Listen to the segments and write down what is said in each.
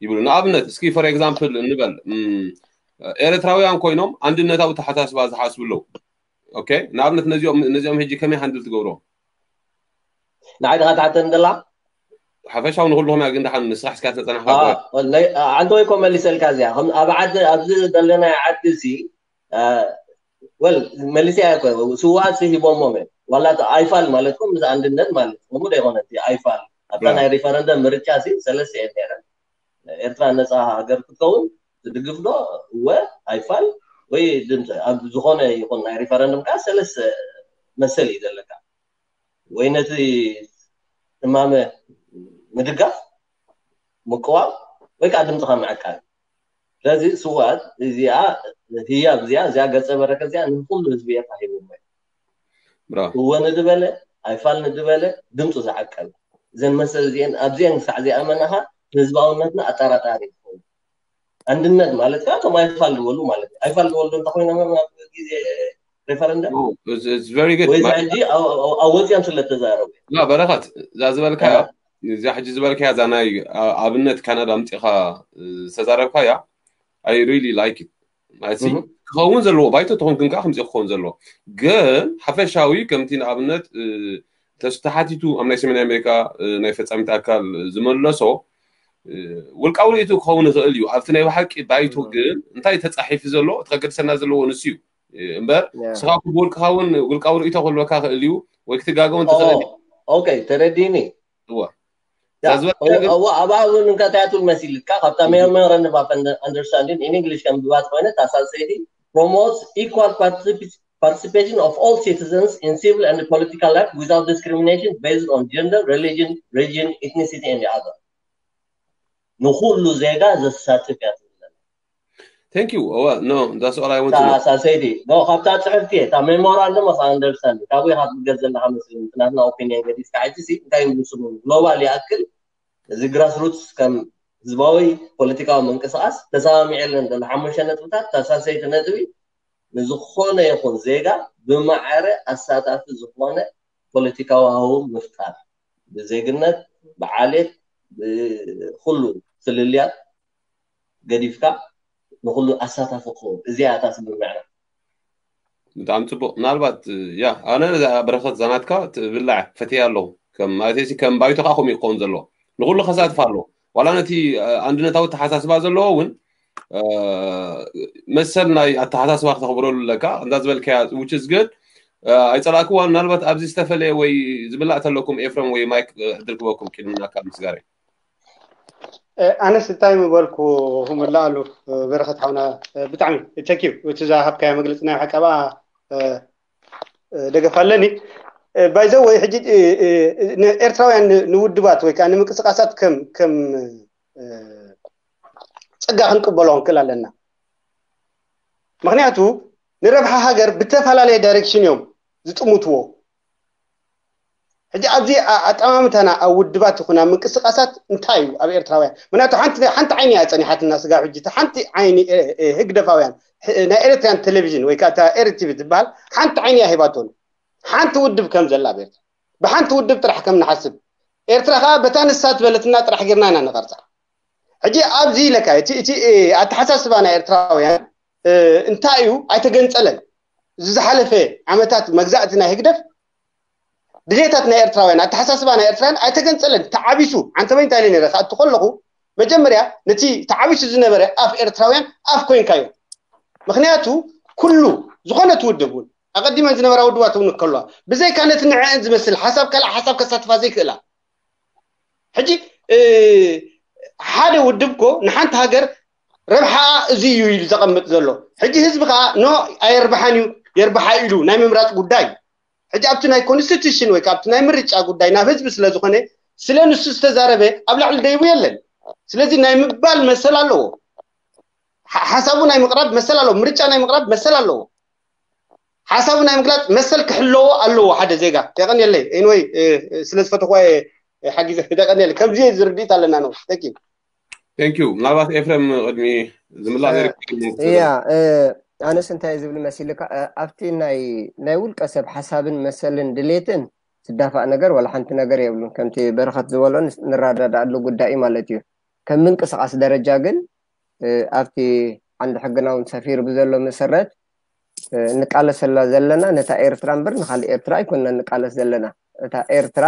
ይብሉ። ንኣብነት እስኪ for example እንበል፣ እም፣ ኤርትራውያን ኮይኖም ኣንድነታዊ ተሓሳስባ ዝሓስቡ ኣለዉ። ኦኬ፣ ንኣብነት ነዚኦም ነዚኦም ሕጂ ከመይ ሃንድል ትገብሮ? ንዓይ ድኻ ትሓተን ደላ? ሓፈሻዊ ንኩልኹም እያ፣ ግን ደሓን ንስራሕ እስካ ተጸናሕካ ኣዎ፣ ጎይ። ወለይ፣ ኣ፣ ዓንተ ወይ ኮ መሊሰልካ እዚኣ። ከም ኣብ ዓዲ፣ ኣብዚ ዘለናዮ ዓዲ እዚ፣ ኣ፣ ወል፣ መሊሰያ እኮ፣ ስውኣት ሲ ሂቦሞም እዮም። ዋላ እቲ ኣይፋል ማለት እኮ ምስ ኣንድነት ማለት እኮ፣ እሞ ዶ ይኾነ እቲ ኣይፋል? ኣብታ ያ። ናይ ሪፈረንደም ምርጫ ሲ ሰለስተ እየን ነይረን። ኤርትራ ነፃ ሃገር ክትከውን ትድግፍ ዶ? እወ፣ ኣይፋል ወይ ድምፂ። ኣብ ዝኾነ ይኹን ናይ ሪፈረንደም ከዓ ሰለስተ መሰል እዩ ዘለካ። ወይ ነቲ እማመ ምድጋፍ፣ ምቅዋም፣ ወይ ከዓ ድምፅኻ ምዕቃብ። ስለዚ ስውኣት እዚኣ፣ ህያብ እዚኣ፣ እዚኣ ገፀ በረከት እዚኣ ንኩሉ ህዝቢ ኤርትራ ሂብዎ እዩ። ብራቮ። እወ ንድበለ፣ ኣይፋል ንድበለ፣ ድምፁ ዝዓቀበ። እዘን መሰል እዚአን፣ ኣብዚአን ክሳዕ ዘይኣመናኻ፣ ህዝባውነትና ኣጠራጣሪ ይኸውን። ኣንድነት ማለት ከዓ እቶም ኣይፋል ዝበሉ ማለት እዩ። ኣይፋል ዝበሉ እንተኮይኖም ኣብ ግዜ ሬፈረንደም Oh, it's, it's very good. ወይ ማለት ሕጂ ኣብ- ኣብ- ኣብ ወፂኦም ስለ ተዛረቡ እዮም። ላ በረኸት፣ እዛ ዝበልካያ ያ። እዚኣ ሕጂ ዝበልካያ እዛ ናይ ኣ- ኣብነት ካናዳ ኣምፂኻ እ፣ ዝተዛረብካያ፣ I really like it። ማለት ሲ እህ። ክኸውን ዘለዎ፣ ባይቶ ተኾንክን ከዓ ከምፂ ክኸውን ዘለዎ። ግን ሓፈሻዊ ከምቲ ንኣብነት እ፣ ተስ ተሓቲቱ ኣብ ናይ ሰሜን ኣሜሪካ እ፣ ናይ ፈፃሚት ኣካል ዝመለሶ እ፣ ውልቃዊ ርእይቱ ክኸውን ይኽእል እዩ። ኣብቲ ናይ ብሓቂ ባይቶ እህ። ግን እንታይ ተፃሒፉ ዘሎ እቲ ከገድሰና ዘለዎ ንሱ እዩ። እ፣ እምበር ያ። ንስኻ ብውልቅኻ እውን ውልቃዊ ርእይቶ ክህልወካ ክእል እዩ ወይ ክትጋገውን ትኽእል እዩ። ኦኬ፣ ተረዲኒ። እዋ። ያ፣ እዛ ዝበልካያ ግን እዋ፣ ኣብኣ እውን እንታይ ትብል መሲልካ፣ ካብታ memorandum of understanding in English ከም ብባት ኮይነ፣ እታ ሳልሰይቲ promotes equal particip- participation of all citizens in civil and political life without discrimination based on gender, religion, region, ethnicity and other። ንኹሉ ዜጋ ዘሳትፍ እያ ትብል። Thank you. እዋ፣ no, that's all I want እታ to know. ሳልሰይቲ፣ no፣ ካብታ ጽሕፍቲ እየ፣ እታ memorandum of understanding፣ ካብኡ ኢኻ ትብገስ ዘለኻ መስለኒ፣ እቲ ናትና ኦፒንየን ገዲፍካ፣ ሕጂ ሲ እንታይ እዩ ስሙ፣ ግሎባል ይኣክል፣ እዚ ግራስሩትስ ከም ህዝባዊ ፖለቲካዊ ምንቅስቃስ ተሰማሚዐለን ዘሎ ሓሙሽተ ነጥብታት፣ እታ ሳልሰይቲ ነጥቢ ንዝኾነ ይኹን ዜጋ ብማዕረ ኣሳታፊ ዝኾነ ፖለቲካዊ ሃዋህው ምፍጣር፣ ብዜግነት፣ ብዓሌት፣ ብኹሉ ፍልልያት ገዲፍካ ንኹሉ ኣሳታፊ ክኸውን፣ እዚኣ እታ ስምምዕና። ብጣዕሚ ፅቡቅ። ምናልባት ያ፣ ኣነ እዛ በረኸት ዛናትካ ትብላዕ ፈትያ ኣለኹ። ከም ማለት ሲ ከም ባይቶ ከዓ ከምኡ ክኸውን ዘለዎ፣ ንኩሉ ከሳትፍ ኣለዎ። ዋላ ነቲ እ፣ ኣንድነታዊ ተሓሳስባ ዘለዎ እውን እ፣ መሰል ናይ ኣተሓሳስባ ክተኽብረሉ ኣለካ። እንዳ ዝበልካያ which is good። እ፣ ኣይፀላእክዋ። ምናልባት ኣብዚ ዝተፈለየ ወይ ዝብላዕ ተለኩም ኤፍረም ወይ ማይክ እ፣ ዕድል ክበኩም ቅድሚ ናካ ምስጋር። እ፣ ኣነስ እንታይ ምበልኩ ክምልኣሉ፣ እ፣ በረኸት ሓውና፣ እ፣ ብጣዕሚ thank you። እቲ ዝሃብካዮ መግለፂ ናይ ሓቂ ኣብኣ፣ እ፣ እ፣ ደገፍ ኣለኒ። እ፣ by the way ሕጂ እ፣ እ፣ ንኤርትራውያን ን- ንውድባት ወይ ከዓ ንምንቅስቃሳት ከም ከም እ፣ ፀጋ ክንቅበሎ ክንክእል ኣለና። ምክንያቱ ንረብሓ ሃገር ብተፈላለየ ዳይሬክሽን እዮም ዝጥምትዎ። ሕጂ ኣብዚ ኣ- ኣጠማምታና ኣብ ውድባት ይኹን ኣብ ምንቅስቃሳት እንታይ እዩ ኣብ ኤርትራውያን? ምክንያቱ ሓንቲ ሓንቲ ዓይኒ እያ ፀኒሓትና ስጋብ ሕጂ። እታ ሓንቲ ዓይኒ እ፣ እ፣ ህግደፋውያን ሕ- ናይ ኤርትራን ቴሌቪዥን ወይ ከዓ እታ ኤሪ ቲቪ ትበሃል ሓንቲ ዓይኒ እያ ሂባቶን ሓንቲ ውድብ ከም ዘላ ኣብ ኤርትራ ብሓንቲ ውድብ ጥራሕ ከም ንሓስብ ኤርትራ ከዓ በታ ንሳ ትበለትና ጥራሕ ጌርና ኢና ንቐርፃ። ሕጂ ኣብዚ ኢለካ እቲ እቲ እ፣ ኣተሓሳስባ ናይ ኤርትራውያን እ፣ እንታይ እዩ ኣይተገንፀለን። እዚ ዝሓለፈ ዓመታት መግዛእቲ ናይ ህግደፍ ድሌታት ናይ ኤርትራውያን ኣተሓሳስባ ናይ ኤርትራውያን ኣይተገንፀለን፣ ተዓቢሱ። ዓንተበይ እንታይ ኢለ ነረ ክኣቱ ከለኹ መጀመርያ ነቲ ተዓቢሱ ዝነበረ ኣፍ ኤርትራውያን ኣፍ ኮይንካዮ። ምክንያቱ ኩሉ ዝኾነት ውድብ እውን ኣቐዲመን ዝነበራ ውድባት እውን ከለዋ ብዘይካ ነቲ ንዕአን ዝመስል ሓሳብ ካልእ ሓሳብ ከሳትፋ ዘይክእላ ሕጂ እ፣ ሓደ ውድብ ኮ ንሓንቲ ሃገር ረብሓ እዚ እዩ ኢሉ ዘቐምጥ ዘሎ። ሕጂ ህዝቢ ከዓ ኖ ኣየርብሓን እዩ የርብሓ ኢሉ ናይ ምምራፅ ጉዳይ እዩ። ሕጂ ኣብቲ ናይ ኮንስቲቱሽን ወይ ከዓ ኣብቲ ናይ ምርጫ ጉዳይ ናብ ህዝቢ ስለ ዝኾነ ስለ ንሱ ዝተዛረበ ኣብ ላዕሊ ደይቡ የለን። ስለዚ ናይ ምባል መሰል ኣለዎ። ሓ- ሓሳቡ ናይ ምቕራብ መሰል ኣለዎ። ምርጫ ናይ ምቕራብ መሰል ኣለዎ። ሓሳቡ ናይ ምግላፅ መሰል ክሕለዎ ኣለዎ ሓደ ዜጋ። የቐንየለይ። Anyway እ፣ እ፣ ስለ ዝፈተኹዋ እየ፣ እ፣ ሓጊዘ። የቐንየለይ። ከምዚ ዝርድኢት ኣለና ነው። Thank you። Thank you። ምናልባት ኤፍረም ቅድሚ ዝምላእ እ፣ ነይሩ። እያ እ፣ ኣነስ እንታይ ዝብል መሲልካ እ፣ ኣብቲ ናይ ናይ ውልቀ ሰብ ሓሳብን መሰልን ድሌትን ዝዳፋእ ነገር ወላ ሓንቲ ነገር የብሉን። ከምቲ በረኸት ዝበሎ ንስ- ንረዳዳኣሉ ጉዳይ እዩ ማለት እዩ። ከም ምንቅስቃስ ደረጃ ግን ኣብቲ ዓንዲ ሕግና እውን ሰፊሩ ብዘሎ መሰረት እንቃለሰላ ዘለና ነታ ኤርትራ እምበር ንካልእ ኤርትራ ኣይኮንና እንቃለስ ዘለና። እታ ኤርትራ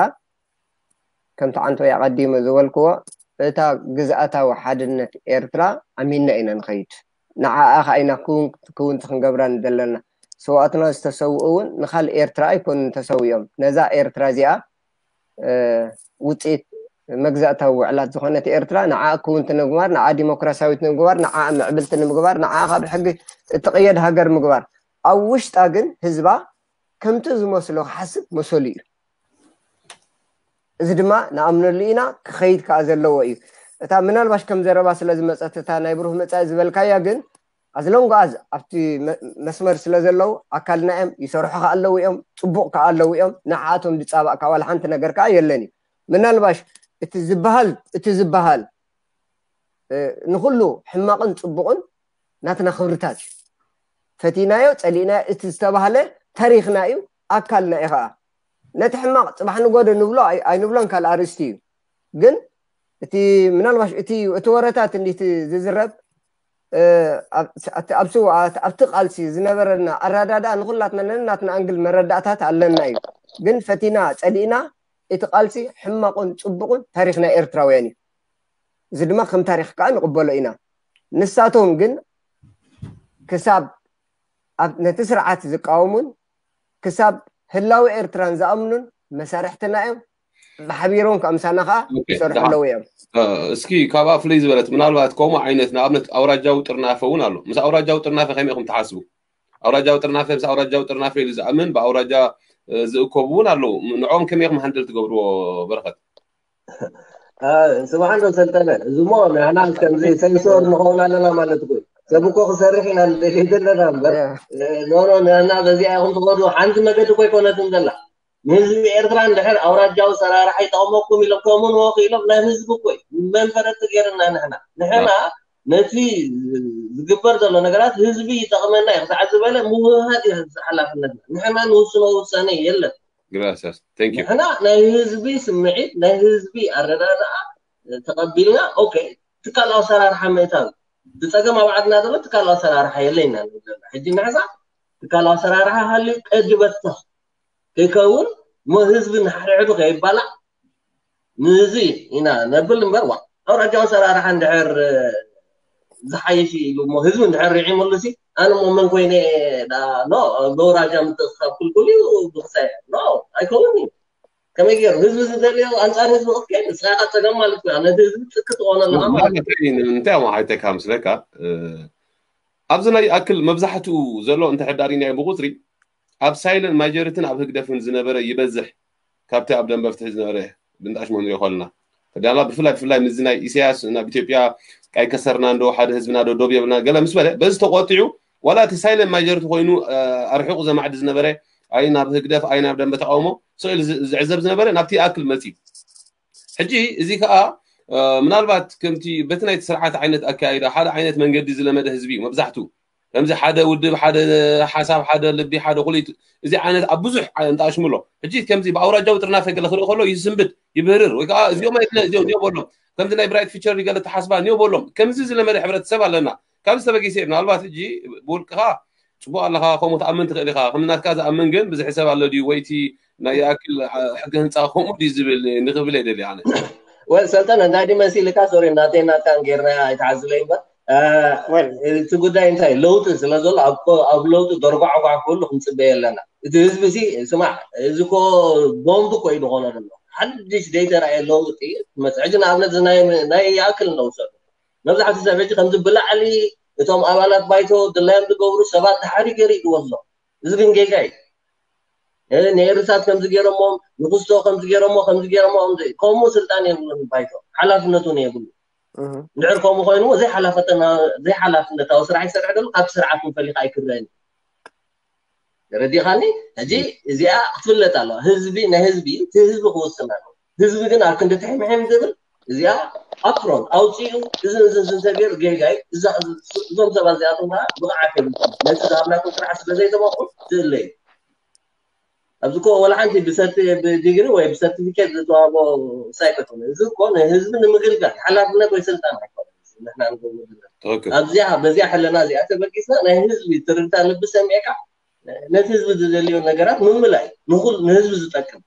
ከምቲ ዓንቶ ኣቐዲመ ዝበልክዎ እታ ግዝኣታዊ ሓድነት ኤርትራ ኣሚንና ኢና ንኸይድ። ንዓኣ ከዓ ኢና ክውን ክውንቲ ክንገብራ ዘለና። ሰዋእትና ዝተሰውኡ እውን ንካልእ ኤርትራ ኣይኮኑን ተሰዊኦም። ነዛ ኤርትራ እዚኣ ውፅኢት መግዛእታዊ ውዕላት ዝኾነት ኤርትራ ንዓ ክውንቲ ንምግባር፣ ንዓ ዲሞክራሲያዊት ንምግባር፣ ንዓ ምዕብልቲ ንምግባር፣ ንዓ ካብ ሕጊ እትቕየድ ሃገር ምግባር፣ ኣብ ውሽጣ ግን ህዝባ ከምቲ ዝመስሎ ክሓስብ መሰሉ እዩ። እዚ ድማ ንኣምነሉ ኢና፣ ክኸይድ ከዓ ዘለዎ እዩ። እታ ምናልባሽ ከም ዘረባ ስለ ዝመፀት እታ ናይ ብሩህ መፃኢ ዝበልካያ ግን ኣዝሎንጓዝ ኣብቲ መስመር ስለ ዘለዉ ኣካልና እዮም፣ ይሰርሑ ከዓ ኣለዉ እዮም፣ ፅቡቕ ከዓ ኣለዉ እዮም። ንዓኣቶም ዝፃባእ ከዓ ዋላ ሓንቲ ነገር ከዓ የለን እዩ። ምናልባሽ እቲ ዝበሃል እቲ ዝበሃል ንኩሉ ሕማቕን ፅቡቕን ናትና ክብርታት እዩ። ፈቲናዮ ፀሊእናዮ እቲ ዝተባህለ ታሪክና እዩ፣ ኣካልና እዩ ከዓ። ነቲ ሕማቕ ፅባሕ ንጎደ ንብሎ ኣይንብሎን ካልእ ኣርእስቲ እዩ። ግን እቲ ምናልባሽ እቲ እቲ ወረታት እንዲቲ ዝዝረብ ኣብ ስውኣት ኣብቲ ቃልሲ ዝነበረና ኣረዳድኣ ንኩላትና ነናትና ኣንግል መረዳእታት ኣለና እዩ። ግን ፈቲና ፀሊእና እቲ ቃልሲ ሕማቑን ፅቡቕን ታሪክ ናይ ኤርትራውያን እዩ። እዚ ድማ ከም ታሪክ ከዓ ንቕበሎ ኢና። ንሳቶም ግን ክሳብ ነቲ ስርዓት ዝቃወሙን ክሳብ ህላዊ ኤርትራን ዝኣምኑን መሳርሕትና እዮም። ብሓቢሮም ከምሳና ከዓ ይሰርሑ ኣለዉ እዮም። እስኪ ካብኣ ፍልይ ዝበለት ምናልባት ከምኡ ዓይነት ንኣብነት ኣውራጃዊ ጥርናፈ እውን ኣሎ። ምስ ኣውራጃዊ ጥርናፈ ከመይ ኢኹም ትሓስቡ? ኣውራጃዊ ጥርናፈ ምስ ኣውራጃዊ ጥርናፈ ኢሉ ዝኣምን ብኣውራጃ ዝእከቡ እውን ኣለዉ። ንዕኦም ከመይ ኢኹም ሃንድል ትገብርዎ? በረኸት ስማዕ እንዶ ሰልጠነ፣ እዚሞ ንሕና ከምዚ ሰንሶር ንኸውን ኣለና ማለት እኮ እዩ። ሰብ እኮ ክሰርሕ ኢና ንደልይ ዘለና እምበር ኖኖ ንሕና በዚኣ ኢኹም ትኸዱ ሓንቲ መገዲ እኮ ኣይኮነትን ዘላ። ንህዝቢ ኤርትራ እንድሕር ኣውራጃዊ ሰራርሓ ይጠቕመኩም ኢሎም ከምኡ ንወኽ ኢሎም ናይ ህዝቢ እኮ እዩ መንፈረቲ ገይርና ንሕና ንሕና ነቲ ዝግበር ዘሎ ነገራት ህዝቢ ይጠቕመና እዩ ክሳዕ ዝበለ ምውህሃድ እዩ ሓላፍነትና። ንሕና ንውስኖ ውሳነ የለን። Gracias. Thank you. ንሕና ናይ ህዝቢ ስምዒት ናይ ህዝቢ ኣረዳድኣ ተቐቢልና ኦኬ ትካል ኣሰራርሓ ምእታው ብፀገም ኣብ ዓድና ዘሎ ትካል ኣሰራርሓ የለና ንብለና ሕጂ ንሕዛ ትካል ኣሰራርሓ ሃልዩ ቀዲ በትተኽ ከይከውን ሞ ህዝቢ ንሓድሕዱ ከይባላዕ ንዚ ኢና ነብል እምበር ዋ ኣውራጃዊ ኣሰራርሓ እንድሕር ዝሓይሽ ኢሉ እሞ ህዝቢ እንድሕር ርዒሙሉ ሲ ኣነ እሞ መን ኮይነ ኖ በውራጃ ምትእኽኻብ ክልኩል እዩ ብክሳይ ኖ ኣይከውን እዩ ከመይ ገይሩ ህዝቢ ዝደልዮ ኣንፃር ህዝቢ ክትከይድ ንስኻ ኢኻ ፀገም ማለት እዩ ነቲ ህዝቢ ጥቂ ትኾኖ ኣለኻ ማለት እንታይ ሞ ሓይተካ ምስለካ ኣብዚ ናይ ኣክል መብዛሕትኡ ዘሎ እንተ ሕዳሪናዮ ብቁፅሪ ኣብ ሳይለንት ማጆሪትን ኣብ ህግደፍን ዝነበረ ይበዝሕ ካብቲ ኣብ ደንበ ፍትሒ ዝነበረ ብንጣሽ መሆኑ ይኸልና ተዳማ ብፍላይ ብፍላይ ምዚ ናይ ኢሳያስ ናብ ኢትዮጵያ ቃይ ከሰርና እንዶ ሓደ ህዝብና ዶ ዶብ የብልና ገለ ምስ በለ በዚ ተቆጢዑ ዋላ እቲ ሳይለንት ማጆሪቲ ኮይኑ ኣርሒቑ ዘማዕዲ ዝነበረ ኣይ ናብ ህግደፍ ኣይ ናብ ደንበ ተቃውሞ ስእል ዝዕዘብ ዝነበረ ናብቲ ኣክል መፂ ሕጂ እዚ ከዓ ምናልባት ከምቲ በቲ ናይቲ ስርዓት ዓይነት ኣካይዳ ሓደ ዓይነት መንገዲ ዝለመደ ህዝቢ እዩ መብዛሕትኡ ከምዚ ሓደ ውድብ ሓደ ሓሳብ ሓደ ልቢ ሓደ ኩሊት እዚ ዓይነት ኣብ ብዙሕ እንተኣሽምሎ ሕጂ ከምዚ ብኣውራጃዊ ጥርናፈ ገለ ክርኢ ከሎ ይስንብድ ይብህርር ወይ ከዓ እዚኦም ኣይትለ እዚኦም እዚኦም በሎም ከምዚ ናይ ብራይት ፊቸር ገለ ተሓስባ እኒኦ በሎም ከምዚ ዝለመደ ሕብረተሰብ ኣለና ካብ ዝተበጊሰ ምናልባት ሕጂ ብውልቅኻ ፅቡቅ ኣለኻ ከምኡ ትኣምን ትኽእል ኢኻ ከም ናትካ ዝኣምን ግን ብዝሒ ሰብ ኣሎ ድዩ ወይ እቲ ናይ ይኣክል ሕጊ ህንፃ ከምኡ ድዩ ዝብል ንክብል እየ ደልየ ኣነ ወይ ሰልጠነ እንታይ ድዩ መሲልካ ሶሪ ናተይ ናትካን ጌርና ኣይትሓዝለይ እምበር እቲ ጉዳይ እንታይ ለውጢ ስለ ዘሎ ኣብ ለውጢ ደርጓዕጓዕ ክህሉ ክንፅበየ ኣለና እቲ ህዝቢ ሲ ስማዕ እዚ ኮ ቦምብ ኮ እዩ ዝኾነ ዘሎ ሓድሽ ዘይተረኣየ ለውጢ መፅሕጂ ንኣብነት ናይ ይኣክል ነውሰዱ መብዛሕትኡ ሰብ ሕጂ ከምዚ ብላዕሊ እቶም ኣባላት ባይቶ ድላዮም ዝገብሩ ሰባት ድሓሪ ገይሩ እዩ ዝወስዶ እዚ ግን ጌጋ እዩ ንኤርሳት ከምዚ ገይሮሞም ንክስቶ ከምዚ ገይሮሞ ከምዚ ገይሮሞ ከምኡ ስልጣን የብሉን ባይቶ ሓላፍነቱ እውን የብሉ እንድሕር ከምኡ ኮይኑ ዘይሓላፍነታዊ ስራሕ ይሰርሕ ዘሎ ካብቲ ስርዓት እውን ፈሊካ ኣይክረአን ተረዲኻኒ ሕጂ እዚኣ ክትፍለጥ ኣለዋ ህዝቢ ናይ ህዝቢ እዩ እቲ ህዝቢ ክውስን ኣለዎ ህዝቢ ግን ኣብ ክንዲ ትሕምሕም ዝብል እዚኣ ኣፕሮን ኣውፅኡ እዚ እዚ እንተገይሩ ጌጋ እዩ እዞም ሰባት እዚኣቶም ከዓ ብቕዓት የብልኩም ነቲ ዝሃብናኩም ስራሕ ስለ ዘይተመቑ ትእለ እዩ ኣብዚ እኮ ወላ ሓንቲ ብሰርቲ ብዲግሪ ወይ ብሰርቲፊኬት ዝተዋህቦ ሳይኮት እዚ እኮ ንህዝቢ ንምግልጋል ሓላፍነት ወይ ስልጣን ኣይኮነን። ንሕና ንገብሮ ዘለና ትክክል ኣብዚኣ በዚኣ ሕልና እዚኣ ተበጊስና ናይ ህዝቢ ትርታ ልቢ ሰሚዕካ ነቲ ህዝቢ ዝደልዮ ነገራት ምምላይ ንኩል ንህዝቢ ዝጠቅም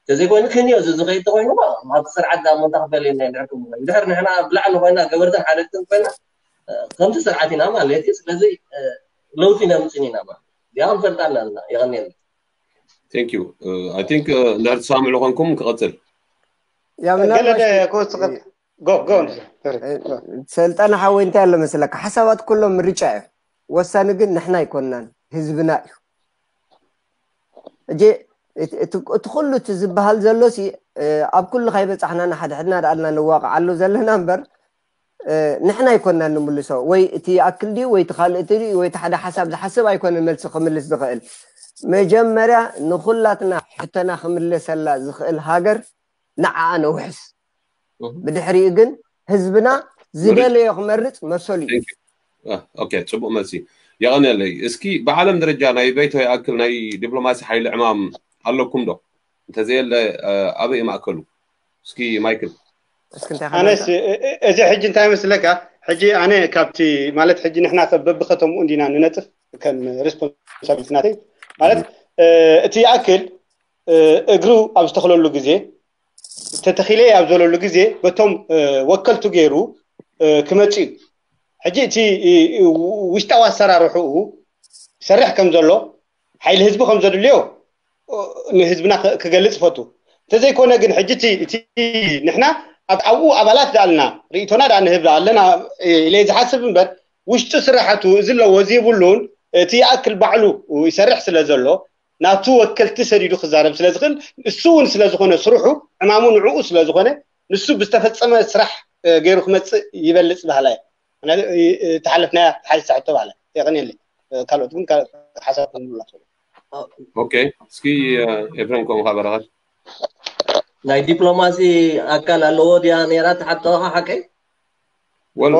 ተዘይኮይኑ ክንዮ እዚ ዝኸይድ ተኮይኑ ኣብ ስርዓት ዳሞ እንተክፈል ኢና ንሕኩም ድሕር ንሕና ኣብ ላዕሊ ኮይና ገበርትን ሓለፍትን ኮይና ከምቲ ስርዓት ኢና ማለት እዩ ስለዚ ለውጢ ነምፅን ኢና ማለት እዚኣ ክንፈልጣ ኣለና የቀኒየልና thank you I think እንድሕር ትሰማምዑ ኮንኩም ክቐፅል ያው ገለ ምናልባት ክወስድ go go sorry ሰልጠነ ሓወይ እንታይ ኣሎ መስለካ ሓሳባት ኩሎም ምርጫ እዩ ወሳኒ ግን ንሕና ኣይኮንናን ህዝብና እዩ እጂ እቲ እቲ- እቲ ኩሉ እቲ ዝበሃል ዘሎ ሲ ኣብ ኩሉ ካይበፃሕና ንሓድሕድና ደኣልና ንዋቕዓሉ ዘለና እምበር ንሕና ኣይኮንና ንምልሶ ወይ እቲ ይኣክል ድዩ ወይ እቲ ካልእ እቲ ድዩ ወይ እቲ ሓደ ሓሳብ ዝሓስብ ኣይኮነን መልሲ ክምልስ ዝኽእል መጀመርያ ንኩላትና ሕቶና ክምለሰላ ዝኽእል ሃገር ንዓኣ ነውሕስ ብድሕሪኡ ግን ህዝብና ዝደለዮ ክመርፅ መሰሉ እዩ ኦኬ ፅቡቅ መልሲ የቐንየለይ እስኪ ብዓለም ደረጃ ናይ በይቶ ይኣክል ናይ ዲፕሎማሲ ሓይሊ ዕማም ኣለኩም ዶ እንተዘየለ ኣበይ ማእከሉ እስኪ ማይክል እስኪ እንታይ ኣነስ ካልእ እዚ ሕጂ እንታይ መስለካ ሕጂ ኣነ ካብቲ ማለት ሕጂ ንሕና ሰብ በብከተምኡ እንዲና ንነጥፍ ከም ሬስፖንሳቢሊቲ ናተይ ማለት እቲ ይኣክል እግሩ ኣብ ዝተኽለሉ ግዜ ተተኺለ ኣብ ዘለሉ ግዜ በቶም ወከልቱ ገይሩ ክመፅ እዩ ሕጂ እቲ ውሽጣዊ ኣሰራርሕኡ ይሰርሕ ከም ዘሎ ሓይሊ ህዝቢ ከም ዘድልዮ ንህዝብና ክገልፅ ይፈቱ እንተዘይኮነ ግን ሕጂ እቲ ንሕና ኣብኡ ኣባላት ዳኣልና ርእቶና ዳ ንህብ ኣለና ኢለ ዝሓስብ እምበር ውሽጢ ስራሕቱ እዚ ኣለዎ እዚ የብሉን እቲ ይኣክል ባዕሉ ይሰርሕ ስለ ዘሎ ናቱ ወከልቲ ሰዲዱ ክዛረብ ስለ ዝኽእል እሱ እውን ስለ ዝኾነ ስርሑ ዕማሙ ንዕኡ ስለ ዝኾነ ንሱ ብዝተፈፀመ ስራሕ ገይሩ ክመፅእ ይበልፅ ባህላ እዩ ተሓለፍናያ ሓይሳ ሕቶ ባህላ የቐንየለይ ካልኦት ግን ሓሳብ ክንብላ ኦኬ እስኪ ኤፍሬም ከምኡ በረኸት ናይ ዲፕሎማሲ ኣካል ኣለዎ ድያ ነራ ትሓተኻ ሓቀይ ወል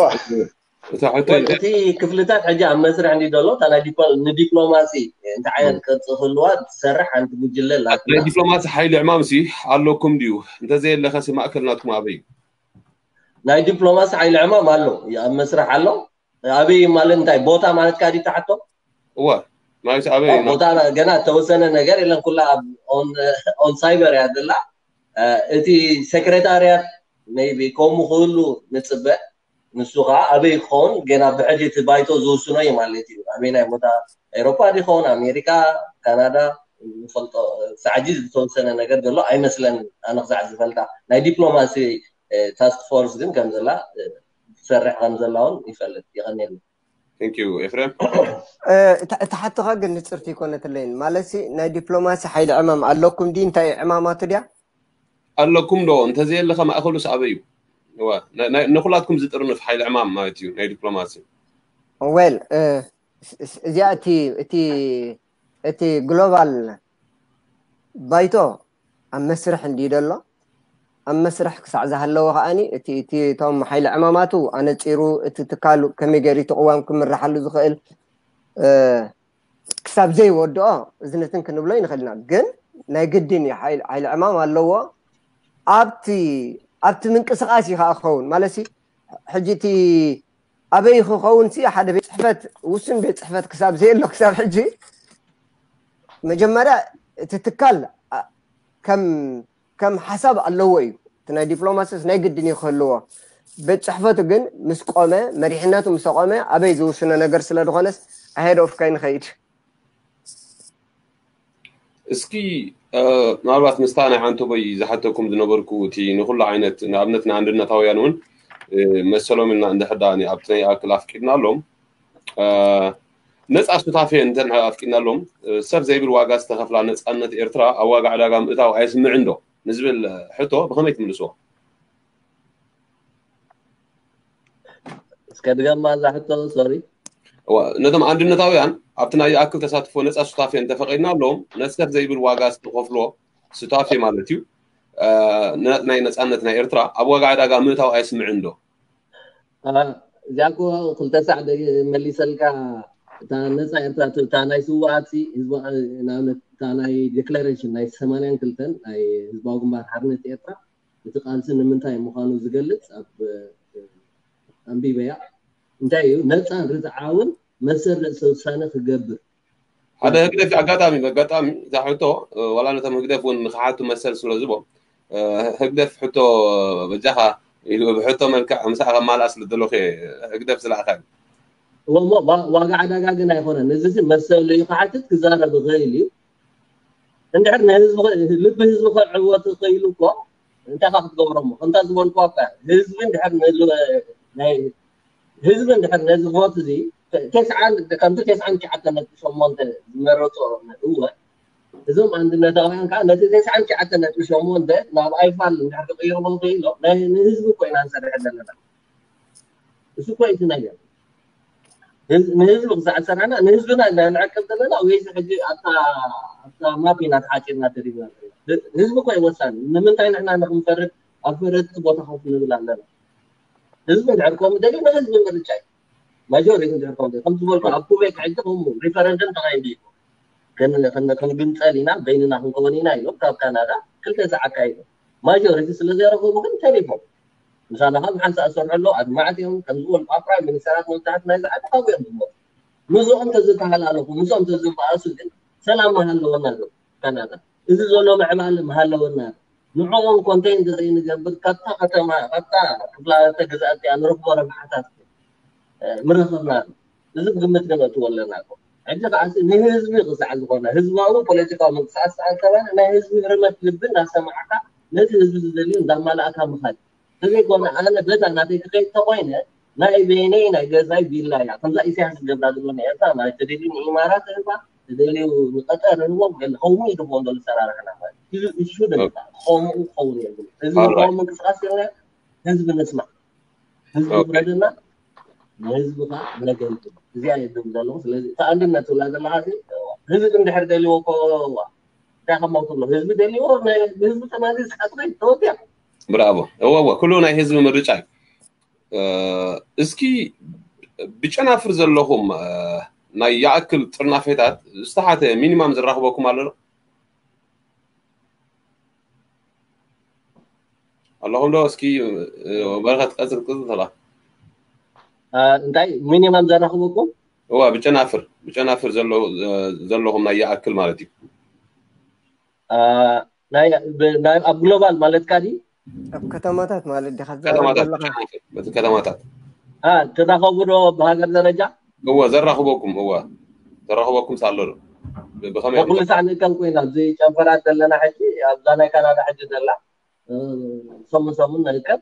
እታ ሕቶ ወል እቲ ክፍልታት ሕጂ ኣብ መስርሕ እንዲ ዘሎ እታ ናይ ዲፕሎ- ንዲፕሎማሲ እንታይ ዓይነት ቅርፂ ክህልዋ ትሰርሕ ሓንቲ ጉጅለ ናይ ኣላትና ዲፕሎማሲ ሓይሊ ዕማም ሲ ኣለኩም ድዩ እንተዘየለኸ ሲ ማእከል ናትኩም ኣበይ እዩ ናይ ዲፕሎማሲ ሓይሊ ዕማም ኣሎ እዩ ኣብ መስርሕ ኣሎ ኣበይ ማለት እንታይ ቦታ ማለት ካዲ ተሓቶ እወ ማለት ኣበይ እዩ ቦታ ገና ተወሰነ ነገር የለን ኩላ ኣብ ኦን ሳይበር እያ ዘላ እቲ ሴክሬታርያት maybe ከምኡ ክህሉ ንፅበ ንሱ ከዓ ኣበይ ክኸውን ገና ብሕጂ እቲ ባይቶ ዝውስኖ እዩ ማለት እዩ ኣበይ ናይ ቦታ ኤሮፓ ዲኸውን ኣሜሪካ ካናዳ ንፈልጦ ሳዕጂ ዝተወሰነ ነገር ዘሎ ኣይመስለን ኣነ ክሳዕ ዝፈልጣ ናይ ዲፕሎማሲ ታስክ ፎርስ ግን ከም ዘላ ትሰርሕ ከም ዘላ እውን ይፈልጥ ይቀኒየሉ Thank you ኤፍሬም እቲ ሓትኻ ግን ንፅርቲ ይኮነትለይን ማለት ናይ ዲፕሎማሲ ሓይሊ ዕማም ኣለኩም ዲ እንታይ ዕማማቱ ድያ ኣለኩም ዶ እንተዘየለኸ ማእኸሉስ ኣበይ እዩ ንኩላትኩም ዝጥርንፍ ሓይሊ ዕማም ማለት እዩ ናይ ዲፕሎማሲ well እዚኣ እቲ እቲ እቲ ግሎባል ባይቶ ኣብ መስርሕ እንዲ ደሎ ኣብ መስርሕ ክሳዕ ዝሃለወ ከዓኒ እቲ እቲ እቶም ሓይሊ ዕማማቱ ኣነፂሩ እቲ ትካሉ ከመይ ገይሩ እቲ ቅዋም ክምርሓሉ ዝኽእል ክሳብ ዘይወድኦ እዝነትን ክንብሎ ይንኽእል ኢና ግን ናይ ግድን እዩ ሓይሊ ዕማም ኣለዎ ኣብቲ ኣብቲ ምንቅስቃስ እዩ ከዓ ክኸውን ማለት ሕጂ እቲ ኣበይ ክኸውን ሲ ሓደ ቤት ፅሕፈት ውሱን ቤት ፅሕፈት ክሳብ ዘየሎ ክሳብ ሕጂ መጀመርያ እቲ ትካል ከም ከም ሓሳብ ኣለዎ እዩ እቲ ናይ ዲፕሎማሲስ ናይ ግድን እዩ ክህልዎ ቤት ፅሕፈቱ ግን ምስ ቆመ መሪሕነቱ ምስ ቆመ ኣበይ ዝውስኖ ነገር ስለ ዝኾነስ ኣሄድ ኦፍ ከይንኸይድ እስኪ ምናልባት ምስታ ናይ ዓንተቦይ ዝሓተኩም ዝነበርኩ እቲ ንኩሉ ዓይነት ንኣብነት ንኣንድነታውያን እውን መሰሎም ኢልና እንድሕር ኣብቲ ናይ ኣክል ኣፍቂድና ኣሎም ነፃ ሱታፌ እንተ ኣፍቂድና ኣሎም ሰብ ዘይብል ዋጋ ዝተኸፍላ ነፃነት ኤርትራ ኣብ ዋጋ ዕዳጋ ምእታው ኣየስምዕን ዶ ንዝብል ሕቶ ብኸመይ ትምልስዎ እስከ ድገማ እዛ ሕቶ ሶሪ ነቶም ኣንድነታውያን ኣብቲ ናይ ይኣክል ተሳትፎ ነፃ ሱታፌ እንተፈቒድና ኣለዎም ነሰፍ ዘይብል ዋጋ ዝተኸፍሎ ሱታፌ ማለት እዩ ናይ ነፃነት ናይ ኤርትራ ኣብ ዋጋ ዕዳጋ ምእታው ኣየስምዕን ዶ እዚኣ እኮ ክልተ ሳዕ መሊሰልካ እታ ነፃ ኤርትራ፣ እታ ናይ ስውኣት ህዝባ፣ ንኣብነት እታ ናይ ዴክላሬሽን ናይ ሰማንያን ክልተን ናይ ህዝባዊ ግንባር ሓርነት ኤርትራ፣ እቲ ቃልሲ ንምንታይ ምዃኑ ዝገልጽ ኣብ ኣንቢበያ። እንታይ እዩ? ነፃን ርትዓውን መሰል ርእሰ ውሳነ ክገብር። ሓደ ህግደፍ፣ ኣጋጣሚ ኣጋጣሚ እዛ ሕቶ ዋላ ነቶም ህግደፍ እውን ንክሓቱ መሰል ስለ ዝቦ፣ ህግደፍ ሕቶ በጃኻ ኢሉ ብሕቶ መልክዕ ምሳኻ ከማልኣ ስለ ዘለኹ ህግደፍ ዝለኣኸ። እሞ ዋጋ ዕዳጋ ግን ኣይኮነን። እዚ መሰሉ እዩ ክሓትት ክዛረብ ይኽእል እዩ። እንድሕር ንህዝቢ ልቢ ህዝቢ ክዕወት ክኢሉ እኮ እንታይ ካ ክትገብሮ እሞ ከምታ ዝበልኩ እኳ ህዝቢ እንድሕር ናይ ህዝቢ እንድሕር ነዚ ቮት እዚ ተስዓን ከምቲ ተስዓን ትሽዓተ ነጥቢ ሸሞንተ ዝመረፆ እወ እዞም ኣንድነታውያን ከዓ ነቲ ተስዓን ትሽዓተ ነጥቢ ሸሞንተ ናብ ኣይፋል እንድሕር ክቕይርዎ ክኢሎ ንህዝቢ እኮ ኢና ንሰርሕ ዘለና። እሱ እኮ እቲ ነገር ንህዝቢ ክሳዕ ዝሰራሕና ንህዝብና ኢና ንዕቅብ ዘለና ወይስ ሕጂ ኣብታ ኣብታ ማፕ ኢና ተሓፂርና ተሪብና ዘለና? ህዝቢ እኮ እዩ ወሳኒ። ንምንታይ ንሕና ንክንፈርድ ኣብ ፈረድቲ ቦታ ኮፍ ንብል ኣለና? ህዝቢ እንድሕር ከምኡ ደልዩ ንህዝቢ ምርጫ እዩ። ማጆሪቲ እንድሕር ከምኡ ደልዩ ከም ዝበልኩ ኣብ ኩቤክ ሕጂ ከምኡ ሪፈረንደም ተኻይዱ እዩ። ክንግንፀል ኢና በይንና ክንከውን ኢና ኢሎም ካብ ካናዳ ክልተ ሰዓት ኣካይዶም። ማጆሪቲ ስለ ዘይረኸቡ ግን ተሪፎም። ምሳና ካብ ሓንሳእ ዝሰርሑ ኣለዉ ኣድማዕቲ እዮም። ከም ዝበልኩ ኣብ ፕራይም ሚኒስተራት መብዛሕቲ ናይዚ ዓዲ ካብኡ እዮም ዝመፁ። ምስኦም ተዝተሃላለኹ ምስኦም ተዝበኣሱ ግን ሰላም ምሃለወና ዶ ካናዳ? እዚ ዘሎ ምዕባለ ምሃለወና ንዕኦም ኮንቴን እንተዘይንገብር ካብታ ከተማ ካብታ ክፍላተ ግዝኣት እቲኣ ንረኽቦ ረብሓታት ምረኸብና። እዚ ግምት ክነእትዎ ኣለና። ሕጂ ከዓ ንህዝቢ ክሳዕ ዝኾነ ህዝባዊ ፖለቲካዊ ምንቅስቃስ ዝተኣከበ ናይ ህዝቢ ህርመት ልቢ እንዳሰማዕካ ነቲ ህዝቢ ዝደልዩ እንዳማላእካ ምኻድ ተዘይኮነ ኣነ በዛ ናተይ ክኸይድ ተኮይነ ናይ በይነይ ናይ ገዛይ ቪላ እያ። ከምዛ ኢሳያስ ዝገብራ ዘሎ ናይ ኤርትራ ማለት ተደልዩ ንኢማራት ህባ ተደልዩ ንቀጠር ህቦም ገለ ከምኡ ኢሉ ክኾን ዘሎ ሰራርሕና ማለት እዩ። እሱ ድማ ከምኡ ክኸውን የብሉ። እዚ ህዝባዊ ምንቅስቃስ የለ ህዝቢ ንስማዕ ህዝቢ ፍረድና ንህዝብኻ ነገልግል እዚኣ የድም ዘለኹ። ስለዚ እቲ ኣንድነት ትብላ ዘለኻ ህዝቢ እንድሕር ደልዎ እኮ እንታይ ከማው ትብሎ ህዝቢ ደልዎ ህዝቢ ተማዚ ስሓትኮይ ተወዲያ ብራቦ እወ እወ ኩሉ ናይ ህዝቢ ምርጫ እዩ። እስኪ ብጨናፍር ዘለኹም ናይ ይኣክል ጥርናፌታት ዝተሓተ ሚኒማም ዝራኽበኩም ኣሎ ዶ? ኣለኹም ዶ? እስኪ በረኸት ቀጽል ቅጽል ተባ እንታይ ሚኒማም ዘራኽበኩም? እዋ ብጨናፍር ብጨናፍር ዘለኹም ናይ ይኣክል ማለት እዩ። ኣብ ግሎባል ማለትካ ድዩ? ኣብ ከተማታት ማለት ዲኻ ትዛረብ ዘለኻ? በቲ ከተማታት ትራኸቡ ዶ ብሃገር ደረጃ? እወ ዘራኽበኩም እወ ዘራኽበኩም ሳሎ ዶ? ብኸመይ ኩሉ ሳዕ ንእከብ ኮይና ኣብዚ ጨንፈራት ዘለና ሕጂ ኣብዛ ናይ ካናዳ ሕጂ ዘላ ሰሙን ሰሙን ንእከብ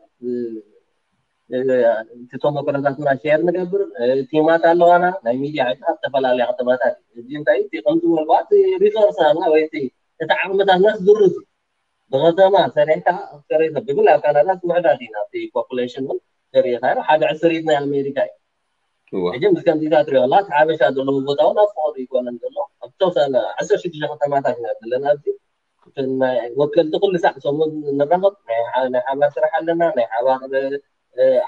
እቲ ተመክሮታትና ሼር ንገብር ቲማት ኣለዋና ናይ ሚድያ ኣብ ዝተፈላለያ ከተማታት እዚ እንታይ እቲ ከምዚ ዝበልኳ እቲ ሪሶርስ ናትና ወይ እቲ ዓቕምታትና ዝድርስ እዩ ብከተማ ሰሪሕካ ክትከረይ ብፍላይ ኣብ ካናዳ ውሕዳት ኢና እቲ ፖፑሌሽን እውን ተሪኢኻ ሓደ ዕስሪት ናይ ኣሜሪካ እዩ ሕጂ ምስ ከምዚታት ሪኦ ኣላ እቲ ሓበሻ ዘለዎ ቦታ እውን ኣብ ፍቕሪ ይኮነን ዘሎ ኣብ ተወሰነ ዓሰርተ ሽዱሽተ ከተማታት ኢና ዘለና ኣብዚ ወከልቲ ኩሉ ሳዕ ሰሙን ንራኸብ ናይ ሓባር ስራሕ ኣለና ናይ ሓባር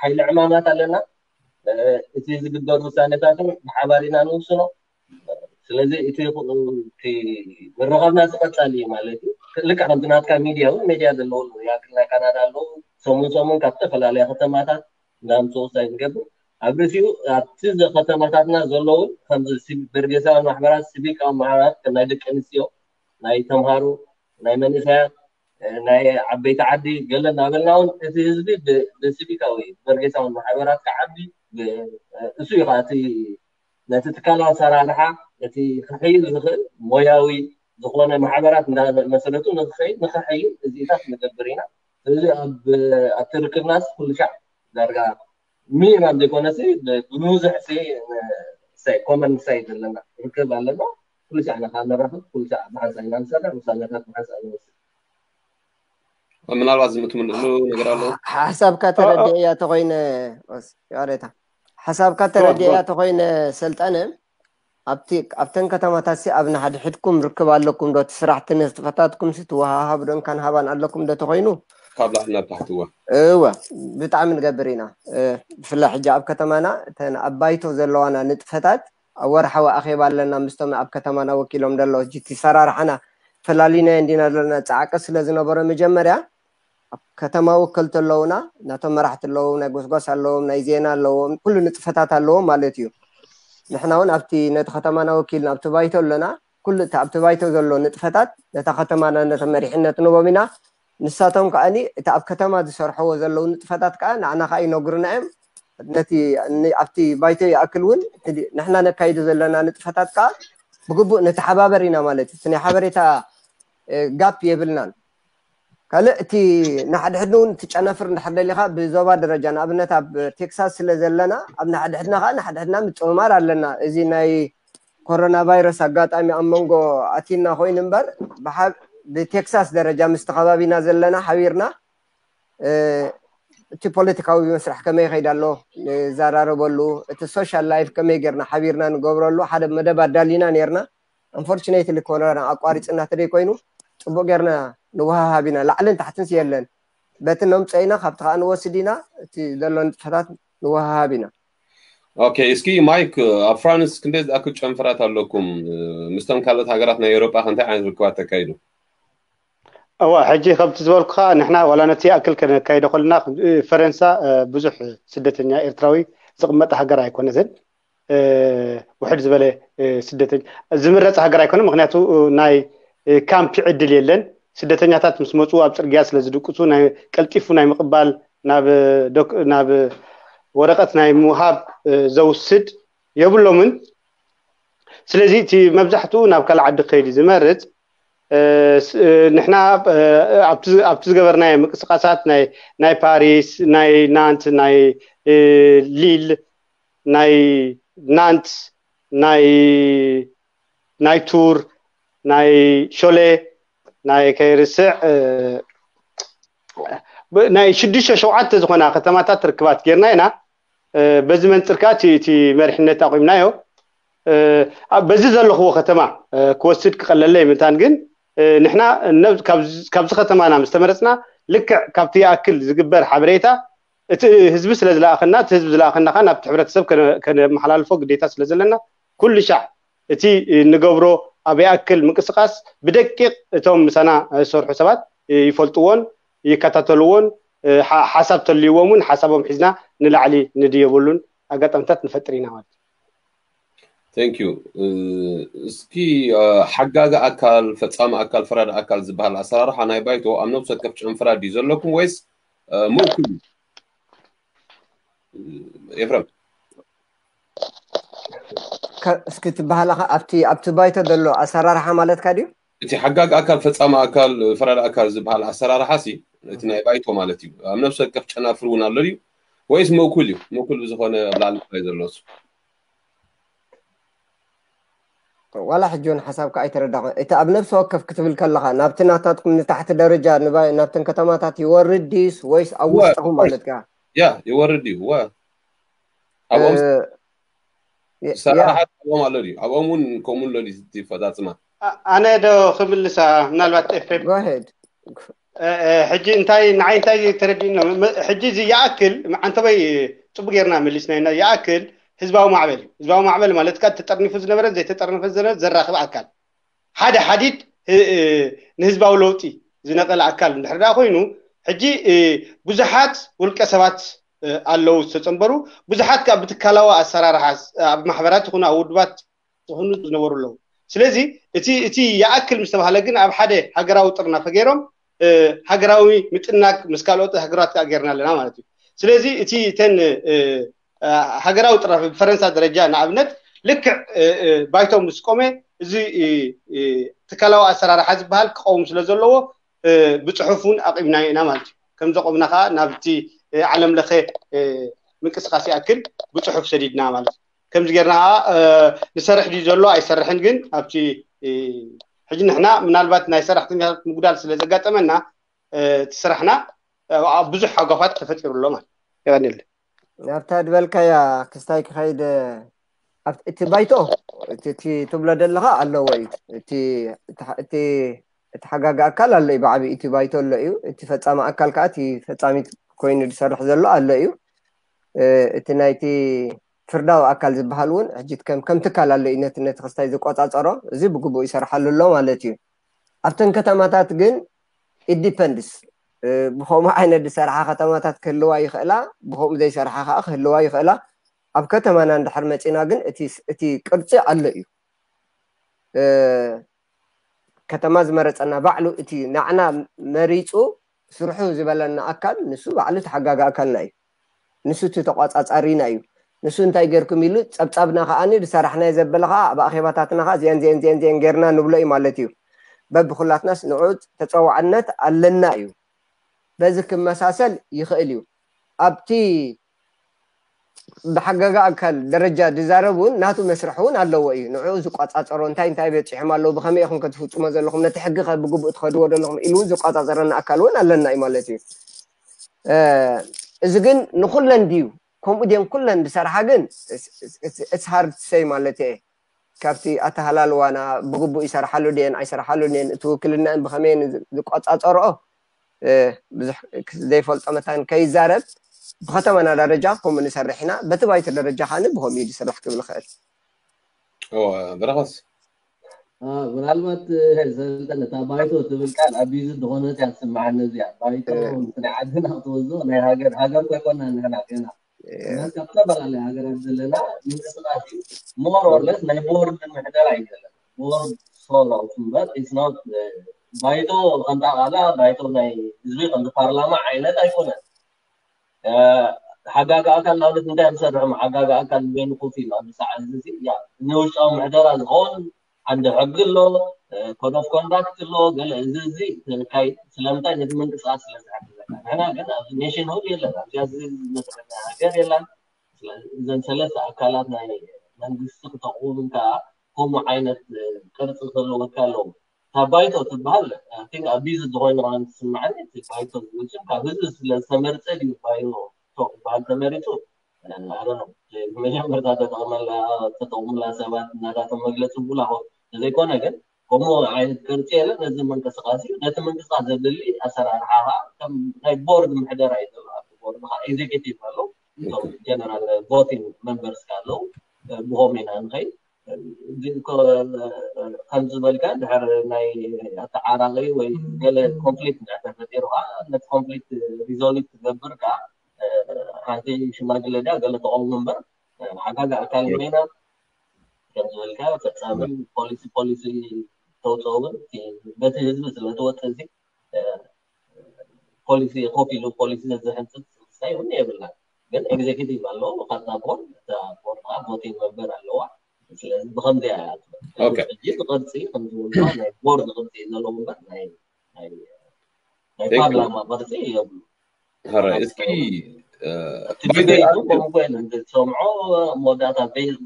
ሓይሊ ዕማማት ኣለና እቲ ዝግበር ውሳኔታትን ብሓባር ኢና ንውስኖ ስለዚ እቲ ምርኻብና ዝቐጻል እዩ ማለት እዩ ልክዕ ከምቲ ናትካ ሚድያ እውን ሚድያ ዘለዉ ያክል ናይ ካናዳ ኣለዉ ሰሙን ሰሙን ካብ ዝተፈላለያ ከተማታት እንዳምፅኡ ውሳኔ ዝገብር ኣብ ርእሲኡ ኣብቲ ከተማታትና ዘለዉ ከምዚ በርጌሳዊ ማሕበራት ሲቪካዊ ማሕበራት ከም ናይ ደቂ ኣንስትዮ ናይ ተምሃሮ ናይ መንእሰያት ናይ ዓበይቲ ዓዲ ገለ እናበልና እውን እቲ ህዝቢ ብሲቪካዊ በርጌሳዊ ማሕበራት ክዓቢ እሱ እዩ ከዓ እቲ ነቲ ትካላዊ ኣሰራርሓ እቲ ክሕይል ዝኽእል ሞያዊ ዝኾነ ማሕበራት እንዳመሰረቱ ንክኸይድ ንክሕይል እዚኢታት ንገብር ኢና። ስለዚ ኣብቲ ርክብናስ ኩሉ ሻዕ ዳርጋ ሚኒማም ዘይኮነሲ ብብዙሕ ሲ ኮመን ሳይድ ዘለና ርክብ ኣለና። ኩሉ ሻዕ ንካ ንራኸብ፣ ኩሉ ሻዕ ብሓንሳእ ኢና ንሰርሕ፣ ውሳነታት ብሓንሳእ ንወስድ። ምናልባት ዝምትምልእሉ ነገር ኣሎ። ሓሳብካ ተረዲእያ ተኮይነ ይቅሬታ ሓሳብካ ተረዲእያ ተኮይነ ሰልጠነ ኣብቲ ኣብተን ከተማታት ሲ ኣብ ንሓድሕድኩም ርክብ ኣለኩም ዶ? እቲ ስራሕቲ ንጥፈታትኩም ሲ ትወሃሃብ ዶ እንካን ሃባን ኣለኩም ዶ ተኮይኑ? ካብ ላዕሊ ናብ ታሕቲ እወ። እወ ብጣዕሚ ንገብር ኢና። ብፍላይ ሕጂ ኣብ ከተማና እተን ኣብ ባይቶ ዘለዋና ንጥፈታት ኣብ ወርሓዊ ኣኼባ ኣለና ምስቶም ኣብ ከተማና ወኪሎም ደለዉ ሕጂ እቲ ሰራርሓና ፈላሊናዮ እንዲና ዘለና ፃዕቂ ስለ ዝነበሮ መጀመርያ ኣብ ከተማ ወከልቲ ኣለውና ናቶም መራሕቲ ኣለዎም ናይ ጎስጓስ ኣለዎም ናይ ዜና ኣለዎም ኩሉ ንጥፈታት ኣለዎም ማለት እዩ። ንሕና እውን ኣብቲ ነቲ ከተማና ወኪልና ኣብቲ ባይቶ ኣለና ኩሉ እቲ ኣብቲ ባይቶ ዘሎ ንጥፈታት ነታ ከተማና ነቲ መሪሕነት ንቦም ኢና። ንሳቶም ከዓኒ እቲ ኣብ ከተማ ዝሰርሕዎ ዘለዉ ንጥፈታት ከዓ ንዓና ከዓ ይነግሩና እዮም። ነቲ ኣብቲ ባይቶ ይኣክል እውን ንሕና ነካይዶ ዘለና ንጥፈታት ከዓ ብግቡእ ነተሓባበር ኢና ማለት እዩ። ናይ ሓበሬታ ጋፕ የብልናን። ካልእ እቲ ንሓድሕድን እውን እቲ ጨነፍር እንድሕር ደሊኻ ብዞባ ደረጃ ንኣብነት ኣብ ቴክሳስ ስለ ዘለና ኣብ ንሓድሕድና ከዓ ንሓድሕድና ምፅምማር ኣለና። እዚ ናይ ኮሮና ቫይረስ ኣጋጣሚ ኣብ መንጎ ኣቲና ኮይኑ እምበር ብሓ- ብቴክሳስ ደረጃ ምስቲ ከባቢና ዘለና ሓቢርና እቲ ፖለቲካዊ መስርሕ ከመይ ይኸይድ ኣሎ ንዘራረበሉ፣ እቲ ሶሻል ላይፍ ከመይ ጌርና ሓቢርና ንገብረሉ ሓደ መደብ ኣዳሊና ኔርና። ኣንፎርቹኔትሊ ኮሮና ኣቋሪፅና ተደይ ኮይኑ ፅቡቅ ጌርና ንወሃሃብ ኢና። ላዕልን ታሕትን የለን። በቲ ነምፀ ኢና ካብቲ ከዓ ንወስድ ኢና። እቲ ዘሎ ንጥፈታት ንወሃሃብ ኢና። ኦኬ፣ እስኪ ማይክ ኣብ ፍራንስ ክንደይ ዝኣክል ጨንፈራት ኣለኩም? ምስቶም ካልኦት ሃገራት ናይ ኤውሮጳ ከ እንታይ ዓይነት ርክባት ተካይዱ? እዋ ሕጂ ከምቲ ዝበልኩኻ ንሕና ዋላ ነቲ ይኣክል ከነካይዶ ከለና ፈረንሳ ብዙሕ ስደተኛ ኤርትራዊ ዝቕመጥ ሃገር ኣይኮነትን። ውሕድ ዝበለ ስደተኛ ዝምረፅ ሃገር ኣይኮነ። ምክንያቱ ናይ ካምፕ ዕድል የለን። ስደተኛታት ምስ መፁ ኣብ ፅርግያ ስለ ዝድቅሱ ቀልጢፉ ናይ ምቕባል ናብ ናብ ወረቀት ናይ ምሃብ ዘውስድ የብሎምን። ስለዚ እቲ መብዛሕትኡ ናብ ካልእ ዓዲ ክኸይድ እዩ ዝመርፅ። ንሕና ኣብቲ ዝገበርናዮ ምንቅስቃሳት ናይ ፓሪስ፣ ናይ ናንት፣ ናይ ሊል፣ ናይ ናንት፣ ናይ ናይ ቱር፣ ናይ ሾሌ፣ ናይ ከይርስዕ ናይ ሽዱሽተ ሸውዓተ ዝኾና ከተማታት ርክባት ጌርና ኢና። በዚ መንፅር ከዓ እቲ መሪሕነት ኣቑምናዮ። በዚ ዘለኽዎ ከተማ ክወስድ ክቐለለይ ምንታን ግን ንሕና ካብዚ ከተማና ምስ ተመረፅና ልክዕ ካብቲ ይኣክል ዝግበር ሓበሬታ እቲ ህዝቢ ስለ ዝለኣኸና እቲ ህዝቢ ዝለኣኸና ከዓ ናብቲ ሕብረተሰብ ከነመሓላልፎ ግዴታ ስለ ዘለና ኩሉ ሻዕ እቲ ንገብሮ ኣብ ይኣክል ምንቅስቃስ ብደቂቕ እቶም ምሳና ዝሰርሑ ሰባት ይፈልጥዎን ይከታተልዎን ሓሳብ ተልይዎም እውን ሓሳቦም ሒዝና ንላዕሊ ንድየበሉን ኣጋጣሚታት ንፈጥር ኢና ማለት እዩ። Thank you። እስኪ ሓጋጊ ኣካል፣ ፈፃሚ ኣካል፣ ፈራዲ ኣካል ዝበሃል ኣሰራርሓ ናይ ባይቶ ኣብ ነብሲ ወከፍ ጨንፈራ ድዩ ዘለኩም ወይስ ምእኩል እዩ? ኤፍረም እስኪ ትበሃላኻ ኣብቲ ኣብቲ ባይቶ ዘሎ ኣሰራርሓ ማለትካ ድዩ? እቲ ሓጋጊ ኣካል፣ ፈፃሚ ኣካል፣ ፈራዲ ኣካል ዝበሃል ኣሰራርሓ ሲ እቲ ናይ ባይቶ ማለት እዩ። ኣብ ነብሲ ወከፍ ጨናፍር እውን ኣሎ ድዩ ወይስ ምእኩል እዩ? ምእኩል ብዝኾነ ኣብ ላዕሊ ጥራይ ዘሎ እሱ። ዋላ ሕጂ እውን ሓሳብካ ኣይተረዳኹ። እቲ ኣብ ነብሲ ወከፍ ክትብል ከለኻ ናብቲ ናታትኩም ንታሕቲ ደረጃ ናብተን ከተማታት ይወርድ ድዩስ ወይስ ኣብ ውሽጥኹም ማለትካ? ያ ይወርድ እዩ። ወ ኣብኦም ሰራሕሓት ኣብኦም ኣሎ ድዩ? ኣብኦም እውን ከምኡ ኣሎ ድዩ እቲ ፈፃፅማ? ኣነ ዶ ክምልሳ ምናልባት ኤፍሬም Go ahead. ሕጂ እንታይ ንዓይ እንታይ ተረዲእኒ ሕጂ እዚ ይኣክል ዓንተበይ ፅቡቅ ጌርና መሊስና ኢና ይኣክል ህዝባዊ ማዕበል እዩ ህዝባዊ ማዕበል ማለት ካ ተጠርኒፉ ዝነበረ ዘይተጠርነፈ ዝነበረ ዘራክብ ኣካል ሓደ ሓዲድ ንህዝባዊ ለውጢ ዝነቀለ ኣካል እንድሕር ደኣ ኮይኑ ሕጂ ብዙሓት ውልቀ ሰባት ኣለዉ ዝተፀንበሩ ብዙሓት ከዓ ብትካላዊ ኣሰራርሓ ኣብ ማሕበራት ይኹኑ ኣብ ውድባት ዝኾኑ ዝነበሩ ኣለዉ ስለዚ እቲ እቲ ይኣክል ምስ ተባሃለ ግን ኣብ ሓደ ሃገራዊ ጥርናፈ ገይሮም ሃገራዊ ምጥናቅ ምስ ካልኦት ሃገራት ከዓ ገይርና ኣለና ማለት እዩ ስለዚ እቲ ተን ሃገራዊ ጥርናፈ ብፈረንሳ ደረጃ ንኣብነት ልክዕ ባይቶ ምስ ቆመ እዚ ትካላዊ ኣሰራርሓ ዝበሃል ክቀውም ስለ ዘለዎ ብፅሑፍ እውን ኣቂምናዮ ኢና ማለት እዩ ከም ዘቆምና ከዓ ናብቲ ዓለም ለኸ ምንቅስቃስ ይኣክል ብፅሑፍ ሰዲድና ማለት እዩ ከምዚ ጌርና ንሰርሕ ድዩ ዘሎ ኣይሰርሕን ግን ኣብቲ ሕጂ ንሕና ምናልባት ናይ ሰራሕተኛታት ምጉዳል ስለ ዘጋጠመና እቲ ስራሕና ብዙሕ ሓጓፋት ተፈጢሩ ኣሎ ማለት የቀኒል ናብታ ድበልካያ ክስታይ ክኸይድ እቲ ባይቶ እቲ ትብሎ ዘለኻ ኣለዎ እዩ እቲ ሓጋጊ ኣካል ኣሎ እዩ ብዓብይ እቲ ባይቶ ኣሎ እዩ እቲ ፈፃሚ ኣካል ከዓ እቲ ፈፃሚት ኮይኑ ዝሰርሕ ዘሎ ኣሎ እዩ እቲ ናይቲ ፍርዳዊ ኣካል ዝበሃል እውን ሕጂ ከም ከም ትካል ኣሎ እዩ ነቲ ነቲ ክስታይ ዝቆፃፀሮ። እዚ ብግቡእ ይሰርሓሉ ኣሎ ማለት እዩ። ኣብተን ከተማታት ግን it depends። ብከምኡ ዓይነት ዝሰርሓ ከተማታት ክህልዋ ይኽእላ፣ ብከምኡ ዘይሰርሓ ከዓ ክህልዋ ይኽእላ። ኣብ ከተማና እንድሕር መፂና ግን እቲ ቅርፂ ኣሎ እዩ። ከተማ ዝመረፀና ባዕሉ እቲ ንዓና መሪፁ ስርሑ ዝበለና ኣካል ንሱ ባዕሉ ተሓጋጊ ኣካልና እዩ። ንሱ እቲ ተቋፃፃሪና እዩ። ንሱ እንታይ ጌርኩም ኢሉ ፀብፃብና ከዓኒ ዝሰራሕናዮ ዘበለ ከዓ ኣብ ኣኼባታትና ከዓ ዚአን ዚአን ዚአን ዚአን ጌርና ንብሎ እዩ ማለት እዩ። በብኩላትናስ ንዑ ተፀዋዕነት ኣለና እዩ። በዚ ክመሳሰል ይኽእል እዩ። ኣብቲ ብሓጋጊ ኣካል ደረጃ ዝዛረብ እውን ናቱ መስርሕ እውን ኣለዎ እዩ። ንዕኡ ዝቋፃፀሮ እንታይ እንታይ በፂሖም ኣለዉ፣ ብኸመይ ኢኹም ከትፍፅሞ ዘለኹም፣ ነቲ ሕጊ ከ ብግቡእ ትኸድዎ ዘለኹም ኢሉ እውን ዝቋፃፀረና ኣካል እውን ኣለና እዩ ማለት እዩ። እዚ ግን ንኩለን ድዩ ከምኡ ድየን ኩለን ዝሰርሓ ግን it's hard to say ማለት እየ። ካብቲ ኣተሃላልዋና ብግቡእ ይሰርሓሉ ድየን ኣይሰርሓሉ ድየን እቲ ውክልናን ብኸመየን ዝቋፃፀርኦ ብዙሕ ዘይፈልጦ መታን ከይዛረብ ብከተማና ደረጃ ከምኡ ንሰርሕ ኢና። በቲ ባይቶ ደረጃ ከዓኒ ብኸምኡ እዩ ዝስራሕ ክብል ይኽእል። ብረኸስ ምናልባት ሰልጠነ እታ ባይቶ ትብል ቃል ኣቢዩዝ ዝኾነት እያ ትስምዓኒ። እዚኣ ባይቶ ናይ ዓድና ክትወዞ ናይ ሃገር ሃገር ኮይኮና ንሕና ገና ካብ ዝተፈላለያ ሃገራት ዘለና ምንቅስቃስ እዩ። ሞር ኦር ለስ ናይ ቦርድ ምሕደራ እዩ ዘለና። ቦርድ ሶሎ እምበር ኢትስ ኖት ባይቶ ከምታ ቃላ ባይቶ ናይ ህዝቢ ከምዚ ፓርላማ ዓይነት ኣይኮነን። ሓጋጊ ኣካል ንኣብነት እንታይ ዝሰርሑ ሓጋጊ ኣካል በይኑ ኮፍ ኢሉ ኣብዚ ሰዓት እዚ ንውሽጣዊ ምሕደራ ዝኸውን ዓንዲ ሕጊ ኣሎ፣ ኮድ ኦፍ ኮንዳክት ኣሎ፣ ገለ እዚ እዚ ስለምንታይ ነቲ ምንቅስቃስ ስለ ዝሕግዘካ። ንሕና ግን ኣብዚ ኔሽን ሁድ የለን፣ ኣብዚ ዝመስለና ሃገር የለን። እዘን ሰለስተ ኣካላት ናይ መንግስቲ ክተቕውም ከኣ ከምኡ ዓይነት ቅርፂ ክህልወካ ኣለዎ። እታ ባይቶ ትበሃል ቲንክ ኣቢዝ ዝኾይኑ ከ ትስምዓኒ። እቲ ባይቶ ዝብል ሽም ካብ ህዝቢ ስለ ዝተመርፀ ድዩ ባይቶ ክበሃል ተመሪፁ? ብመጀመርታ ተጠቕመላ ተጠቕሙላ ሰባት እናታቶም መግለፂ ብላ ኾ ተዘይኮነ ግን ከምኡ ዓይነት ቅርፂ የለን። ነዚ ምንቅስቃስ እዩ ነቲ ምንቅስቃስ ዘድሊ ኣሰራርሓ ከዓ ከም ናይ ቦርድ ምሕደራ እዩ ዘሎ። ኣብ ቦርድ ከዓ ኤግዜኪቲቭ ኣሎ፣ ጀነራል ቮቲንግ መንበርስ ኣለዉ። ብኸምኡ ኢና ንኸይድ። ከምዚ ዝበልካ ድሕር ናይ ኣተዓራቂ ወይ ገለ ኮንፍሊክት እንድሕር ተፈጢሩ ከዓ ነቲ ኮንፍሊክት ሪዞልቭ ትገብር ከዓ ሓንቲ ሽማግለ ድያ ገለ ተቐውሞ እምበር ሓጋጊ ኣካል ኮይና ከም ዝበልካ ፈፃምን ፖሊሲ ፖሊሲ ተውፅኦ እውን በቲ ህዝቢ ስለትወፅእ እዚ ፖሊሲ ኮፍ ኢሉ ፖሊሲ ዘዝሕንፅፅ ስልጣን እውን የብልናን። ግን ኤግዜኪቲቭ ኣሎ ካብታ ቦርድ እታ ቦርድ ከዓ ቮቲንግ መንበር ኣለዋ። ስለዚ ብከምዚኣ እያ ሕጂ እቲ ቅርፂ ከምዝብልዋ ናይ ቦርድ ቅርፂ እዩ ዘለዎ እምበር ናይ ናይ ፓርላማ ቅርፂ የብሉ። ሕራይ እስኪ እቲ ዲቤቱ ከምኡ ኮይኑ እንትትሰምዖ መወዳእታ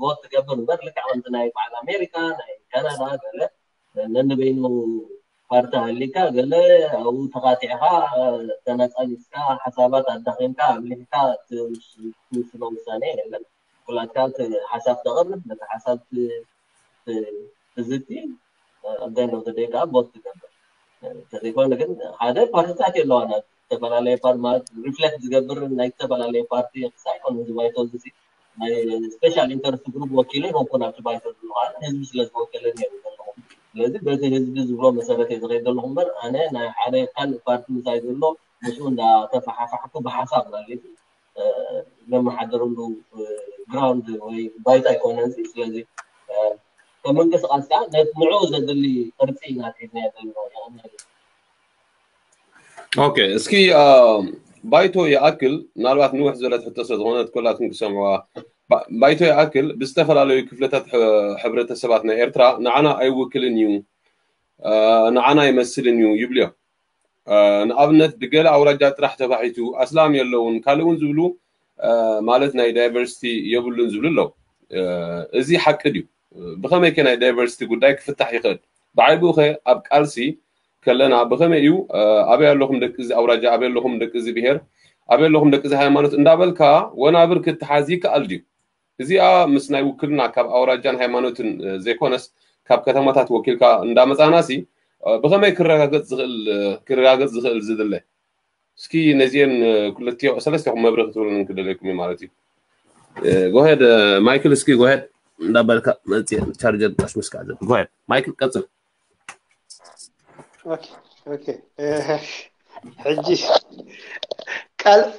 ቮት ትገብር እምበር ልክዕ ከምቲ ናይ በዓል ኣሜሪካ ናይ ካናዳ ገለ ነንበይኑ ፓርቲ ሃሊካ ገለ ኣብኡ ተኻቲዕካ ተነፃኒስካ ሓሳባት ኣዳኺምካ ኣብሊሕካ ትውስኖ ውሳኔ የለን። ኩላትካ ሓሳብ ተቕርብ ነቲ ሓሳብ ትዝቲ ኣጋይ ነው ዘደይ ከዓ ቦት ትገብር። እንተዘይኮነ ግን ሓደ ፓርቲታት የለዋና ዝተፈላለየ ፓርቲ ማለት ሪፍሌክት ዝገብር ናይ ዝተፈላለየ ፓርቲ ክሳይ ኮነ እዚ ባይቶ እዚ ናይ ስፔሻል ኢንተረስት ግሩፕ ወኪለ ይኮንኩ ናብቲ ባይቶ ዝለዋለ ህዝቢ ስለ ዝወከለኒ እዮም ዘለኹ። ስለዚ በቲ ህዝቢ ዝብሎ መሰረት እየ ዝኸይድ ዘለኹ እምበር ኣነ ናይ ሓደ ካልእ ፓርቲ ምሳይ ዘሎ ምስኡ እንዳተፈሓፋሕኩ ብሓሳብ ማለት እዩ ዘመሓደረሉ ግራውንድ ወይ ባይታ ኣይኮነን። ስለዚ ከም ምንቅስቃስ ከዓ ንዑ ዘድሊ ቅርፂ ኢና ሒዝና ዘለና። ኦኬ እስኪ ባይቶ ይኣክል ምናልባት ንውሕ ዝበለት ሕቶ ስለ ዝኾነት ኩላትኩም ክሰምዕዋ ባይቶ ይኣክል ብዝተፈላለዩ ክፍለታት ሕብረተሰባት ናይ ኤርትራ ንዓና ኣይውክልን እዩ ንዓና ኣይመስልን እዩ ይብልዮ። ንኣብነት ብገለ ኣውራጃ ጥራሕ ተባሒቱ ኣስላም የለውን ካልእ እውን ዝብሉ ማለት ናይ ዳይቨርሲቲ የብሉን ዝብሉ ኣለዉ። እዚ ሓቂ ድዩ? ብኸመይ ከ ናይ ዳይቨርሲቲ ጉዳይ ክፍታሕ ይኽእል? ብዓይብኡ ኸ ኣብ ቃልሲ ከለና ብኸመይ እዩ ኣበይ ኣለኹም ደቂ እዚ ኣውራጃ ኣበይ ኣለኹም ደቂ እዚ ብሄር ኣበይ ኣለኹም ደቂ እዚ ሃይማኖት እንዳበልካ ወናብር ክትሓዝ ይከኣል ድዩ? እዚኣ ምስ ናይ ውክልና ካብ ኣውራጃን ሃይማኖትን ዘይኮነስ ካብ ከተማታት ወኪልካ እንዳመፃና ሲ ብኸመይ ክረጋገፅ ዝኽእል ክረጋገፅ ዝኽእል ዝድለ እስኪ ነዚአን ክልቲኦ ሰለስቲኹም መብርህ ክትብሉን ክደለይኩም እዩ ማለት እዩ። ጎሄድ ማይክል፣ እስኪ ጎሄድ እንዳበልካ መፅእ ቻርጀር ጣሽ ምስካ ዘ ጎሄድ ማይክል ቀፅል። ኦኬ ኦኬ። ሕጂ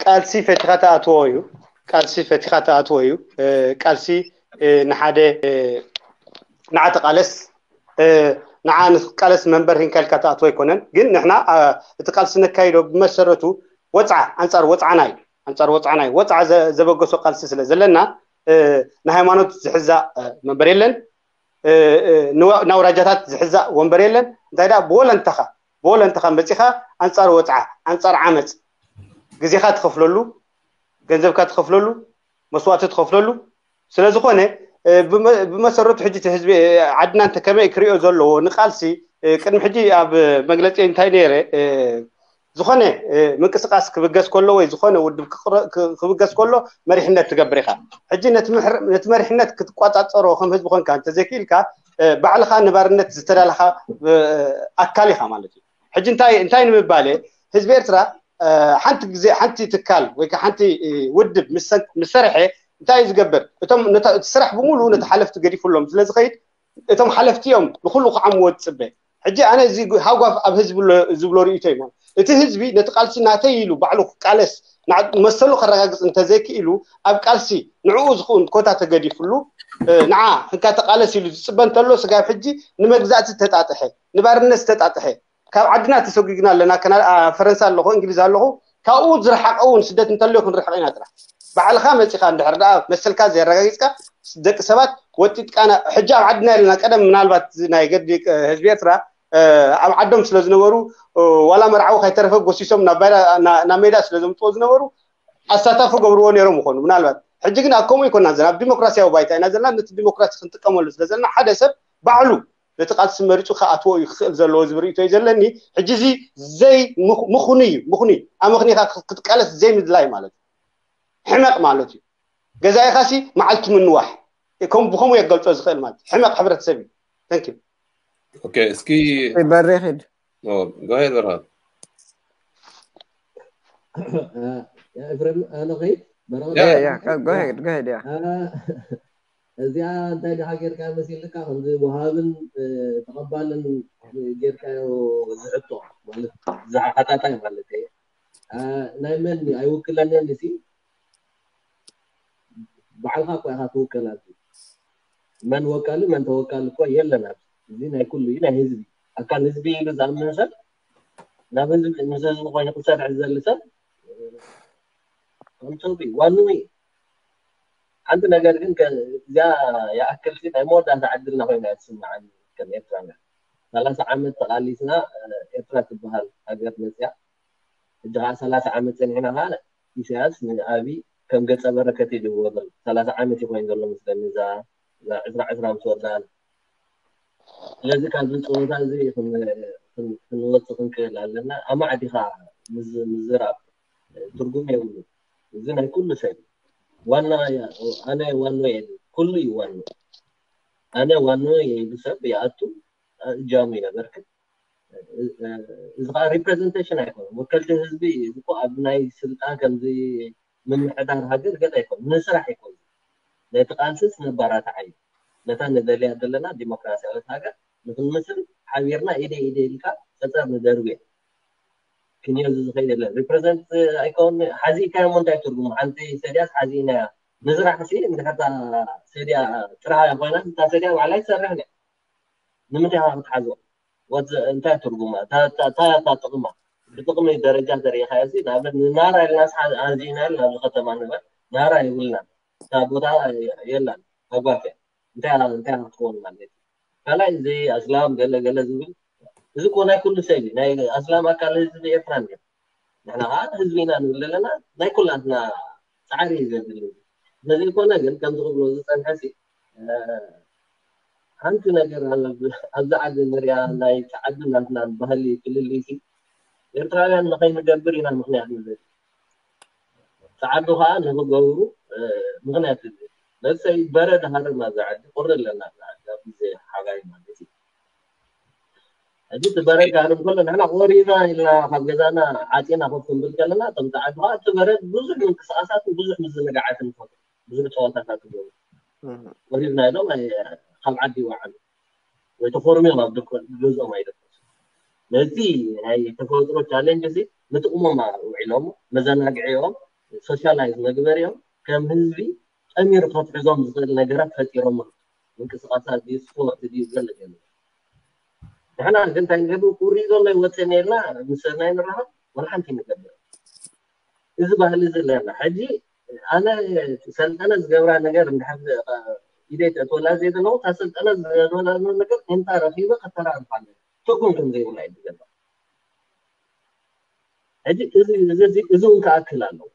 ቃልሲ ፈቲኻ ተኣትዎ እዩ። ቃልሲ ፈቲኻ ተኣትዎ እዩ። ቃልሲ ንሓደ ንዓ ተቃለስ ንዓ ንቃለስ መንበር ሂንካ ኢልካ ተኣትዎ ኣይኮነን። ግን ንሕና እቲ ቃልሲ ነካይዶ ብመሰረቱ ወፅዓ፣ ኣንፃር ወፅዓና እዩ። ኣንፃር ወፅዓና እዩ። ወፅዓ ዘበገሶ ቃልሲ ስለ ዘለና ንሃይማኖት ዝሕዛእ መንበር የለን። ናውራጃታት ዝሕዛእ ወንበር የለን። እንታይ ደኣ ብወለንተኻ ብወለንተኻ መፂኻ ኣንፃር ወፅዓ፣ ኣንፃር ዓመፅ ግዜኻ ትኸፍለሉ፣ ገንዘብካ ትኸፍለሉ፣ መስዋእቲ ትኸፍለሉ። ስለ ዝኾነ ብመሰረቱ ሕጂ እቲ ህዝቢ ዓድና እንተ ከመይ ክሪኦ ዘለዎ ንቃልሲ ቅድሚ ሕጂ ኣብ መግለፂ እንታይ ነይረ፣ ዝኾነ ምንቅስቃስ ክብገስ ከሎ ወይ ዝኾነ ውድብ ክብገስ ከሎ መሪሕነት ትገብር ኢኻ። ሕጂ ነቲ መሪሕነት ክትቋፃፀሮ ከም ህዝቢ ኮንካ እንተዘይክኢልካ ባዕልኻ ንባርነት ዝተዳለኻ ኣካል ኢኻ ማለት እዩ። ሕጂ እንታይ እንታይ ንምባል ህዝቢ ኤርትራ ሓንቲ ግዜ ሓንቲ ትካል ወይ ሓንቲ ውድብ ምስ ሰርሐ እንታይ እዩ ዝገብር? እቶም ስራሕ ብምሉ ነቲ ሓለፍቲ ገዲፉሎም ስለ ዝኸይድ እቶም ሓለፍቲ እዮም ንኩሉ ክዓምዎ ዝፅበ። ሕጂ ኣነ እዚ ሃጓፍ ኣብ ህዝቢ ዝብሎ ርእቶ እዩ። እቲ ህዝቢ ነቲ ቃልሲ ናተይ ኢሉ ባዕሉ ክቃለስ መሰሉ ከረጋግፅ እንተዘይክኢሉ ኣብ ቃልሲ ንዕኡ ዝኽውን ኮታ ተገዲፍሉ ንዓ እንካ ተቃለስ ኢሉ ዝፅበ እንተሎ ስጋብ ሕጂ ንመግዛእቲ ዝተጣጥሐ ንባርነት ዝተጣጥሐ ካብ ዓድና ተሰጒግና ኣለና። ፈረንሳ ኣለኹ፣ እንግሊዝ ኣለኹ። ካብኡ ዝረሓቀ እውን ስደት እንተልዮ ክንርሕቕ ኢና ጥራሕ። ባዕልኻ መፂኻ እንድሕር ደኣ መሰልካ ዘየረጋጊፅካ ደቂ ሰባት ወጢጥቃና ሕጂ ኣብ ዓድና የለና። ቀደም ምናልባት ናይ ገዲ ህዝቢ ኤርትራ ኣብ ዓዶም ስለ ዝነበሩ ዋላ መርዓዊ ከይተረፈ ጎሲሶም ናብ ሜዳ ስለ ዘምፅዎ ዝነበሩ ኣሳታፊ ገብርዎ ነይሮም ይኾኑ ምናልባት። ሕጂ ግን ኣብ ከምኡ ይኮና ዘለና፣ ኣብ ዲሞክራሲያዊ ባይታ ኢና ዘለና። ነቲ ዲሞክራሲ ክንጥቀመሉ ስለ ዘለና ሓደ ሰብ ባዕሉ ነቲ ቃልሲ መሪፁ ክኣትዎ እዩ ክኽእል ዘለዎ ዝብል ርእይቶ እዩ ዘለኒ። ሕጂ እዚ ዘይ ምኹኑ እዩ፣ ምኹኑ እዩ። ኣመኽኒኻ ክትቃለስ ዘይምድላይ ማለት እዩ። ሕመቕ ማለት እዩ። ገዛኢኻሲ መዓልቲ ምንዋሕ ከም ብኸምኡ የገልፆ ዝኽእል ማለት እዩ። ሕመቕ ሕብረተሰብ እዩ። Thank you። ኦኬ፣ እስኪ በሬ ኺድ ጎሄድ በርሃ ኤፍሬም ኣነ ኸይድ በረኸት Yeah, yeah, go, go ahead, go ahead, yeah. እዚኣ እንታይ ድኻ ጌርካ መሲልካ ከምዚ ወሃብን ተቐባልን ጌርካዮ ዝሕቶ ማለት ዝሓጣጣይ ማለት እዩ። ናይ መን ኣይውክለንን ሲ ባዕልካ እኮ ኢካ ትውከል ኣብዚ መን ወካሊ መን ተወካሊ እኮ የለን ኣብዚ እዚ ናይ ኩሉ እዩ ናይ ህዝቢ ኣካል ህዝቢ ኢሉ ዝኣምን ሰብ ናብ ህዝቢ ምስ ህዝቢ ኮይኑ ክሰርሕ ዝደሊ ሰብ ከምሰቢ ዋንዊ ሓንቲ ነገር ግን እዚኣ ይኣክል ናይ መወዳእታ ዕድልና ኮይና እያ ትስምዓኒ ከም ኤርትራውያን ሰላሳ ዓመት ተቃሊስና ኤርትራ ትበሃል ሃገር መፅያ ሕጂ ከዓ ሰላሳ ዓመት ፀኒሕና ከዓ ኢሳያስ ንኣብይ ከም ገፀ በረከት እዩ ዝወገል ሰላሳ ዓመት እዩ ኮይኑ ዘሎ ምስለኒ እዛ ዕስራ ዕስራ ምስ ወዳእና ስለዚ ካብዚ ፀወታ እዚ ክንወፅእ ክንክእል ኣለና ኣማዕዲኻ ምዝራብ ትርጉም የብሉ እዚ ናይ ኩሉ ሰብ ዋና ኣነ ዋኖ የለ ኩሉ እዩ ዋኖ ኣነ ዋኖ የብሉ ሰብ ይኣቱ እጃሙ የበርክት እዚ ከዓ representation ኣይኮነ ወከልቲ ህዝቢ እዚ ኣብ ናይ ስልጣን ከምዚ ምምሕዳር ሃገር ገለ ኣይኮነ ንስራሕ ይኮነ ነቲ ቃልስስ ነባራትዓ እዩ ነታ ንደልያ ዘለና ዲሞክራሲያዊት ሃገር ንክንምስል ሓቢርና ኢደ ኢደ ኢልካ ፀፀር ንደርብዮ ክንዮ እዚ ዝኸይድ የለን represent ኣይከውን ሓዚእካዮ ሞ እንታይ ትርጉሙ ሓንቲ ሰድያስ ሓዚእናያ ንስራሕ ሲ እንድሕርታ ሰድያ ጥራሃ ኮይና እታ ሰድያ ባዕላ ይሰርሕ ነ ንምንታይ ክትሓዞ እንታይ ትርጉማ እንታይ እታ ጥቕማ ብጥቕሚ ደረጃ ተሪኢኻዮ ሲ ንኣብነት ንናራ ኢልና ኣዚእና ኢልና ኣብዚ ከተማ ንበል ናራ የብልናን እታ ቦታ የላን ኣጓፊያ እንታይ እንታይ ክትኸውን ማለት እዩ ካልኣይ እዚ ኣስላም ገለ ገለ ዝብል እዚ እኮ ናይ ኩሉ ሰብ እዩ ናይ ኣስላም ኣካል ህዝቢ ኤርትራ እንዲ ንሕና ከዓ ህዝቢ ኢና ንብል ዘለና ናይ ኩላትና ፃዕሪ እዩ ዘድሊ ስለዘይኮነ ግን ከምዚ ክብሎ ዝፀንሐ ሲ ሓንቲ ነገር ኣብዚ ዓዲ ንሪኣ ናይ ፃዓዲ ናትና ባህሊ ፍልልይ ሲ ኤርትራውያን ንኸይንገብር ኢና ምክንያት ንብል ፃዓዱ ከዓ ንክገብሩ ምክንያት ንብል ለሰይ በረድ ሃርም ኣብዚ ዓዲ ቁሪ ኣለና ኣብዚ ዓዲ ኣብ ግዜ ሓጋይ ማለት እዩ ሕጂ እቲ በረድ ክሃርም ከሎ ንሕና ቆሪና ኢልና ካብ ገዛና ዓፂና ኮፍ ክንብል ከለና እቶም ፃዓዱ ከዓ እቲ በረድ ብዙሕ ምንቅስቃሳትን ብዙሕ ምዝንጋዓትን ይፈጥሩ ብዙሕ ፀዋታታት ይገብሩ። ወሪድና ኢሎም ኣይ- ካብ ዓዲ ይወዓሉ ወይ ተኾርምዮም ኣብ ድኮ- ገዝኦም ኣይደቀሱ። ነዚ ናይ ተፈጥሮ ቻሌንጅ እዚ ንጥቕሞም ውዒሎም መዘናግዒኦም ሶሻላይዝ መግበሪኦም ከም ህዝቢ ጠሚሩ ከትሕዞም ዝኽእል ነገራት ፈጢሮም። ምንቅስቃሳት ድዩ ስፖርት ድዩ ገለ ገለ። ንሕና ግን እንታይ ንገብር ቁሪ ዘሎ ይወፅእ ነርና ምስ ሰብናይ ንራኸብ ወላ ሓንቲ ንገብር። እዚ ባህሊ እዚ ኣለና። ሕጂ ኣነ ሰልጠነ ዝገብራ ነገር እንድሕር ኢደይ ተእትወላ ዘይ ዘለኹ እታ ሰልጠነ ዝገብራ ነገር እንታ ረኺበ ከተራርፋ ኣለኒ። ትርጉም ከም ዘይብላ እዩ ዝገብራ። ሕጂ እዚ እዚ- እዚ- እዚ እውን ክኣክል ኣለዎ።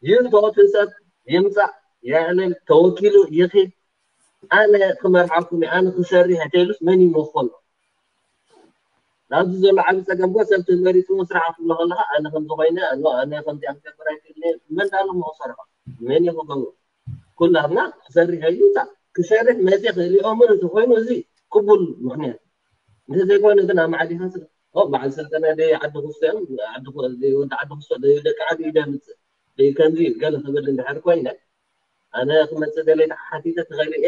ይህቶ እቲ ሰብ ይምፃእ የዕልል ተወኪሉ ይኺድ ኣነ ክመርሓኩም እየ፣ ኣነ ክሰርሕ እንተኢሉስ መን ይመኾሎ? ናብዚ ዘሎ ዓብ ፀገም ጎ ሰብ ተመሪፁ ስራሕ ክብሎ ከለካ ኣነ ከምዚ ኮይነ ኣሎ ኣነ ከምዚ ክገብር ኣይክእልን እየ። መን ዳሎ መክሰርሖ መን እዩ ክገብሮ? ኩላትና ክሰርሕ እዩ ታ ክሰርሕ መፅእ ክእልኦ ምን እንተኮይኑ እዚ ቅቡል ምክንያት እንተዘይኮይኑ ግን ኣብ ማዕዲካ ስለ ኦ በዓል ስልጠና ደይ ዓዲ ክስቶ እዮም ዓዲ ክስቶ ደይ ወዲ ዓዲ ክስቶ ደይ ደቂ ዓዲ ይደምፅእ ደይ ከምዚ እዩ ገለ ክብል እንድሕር ኮይነ ኣነ ክመፅእ ደለይ ተሓቲተ ትኽእል እየ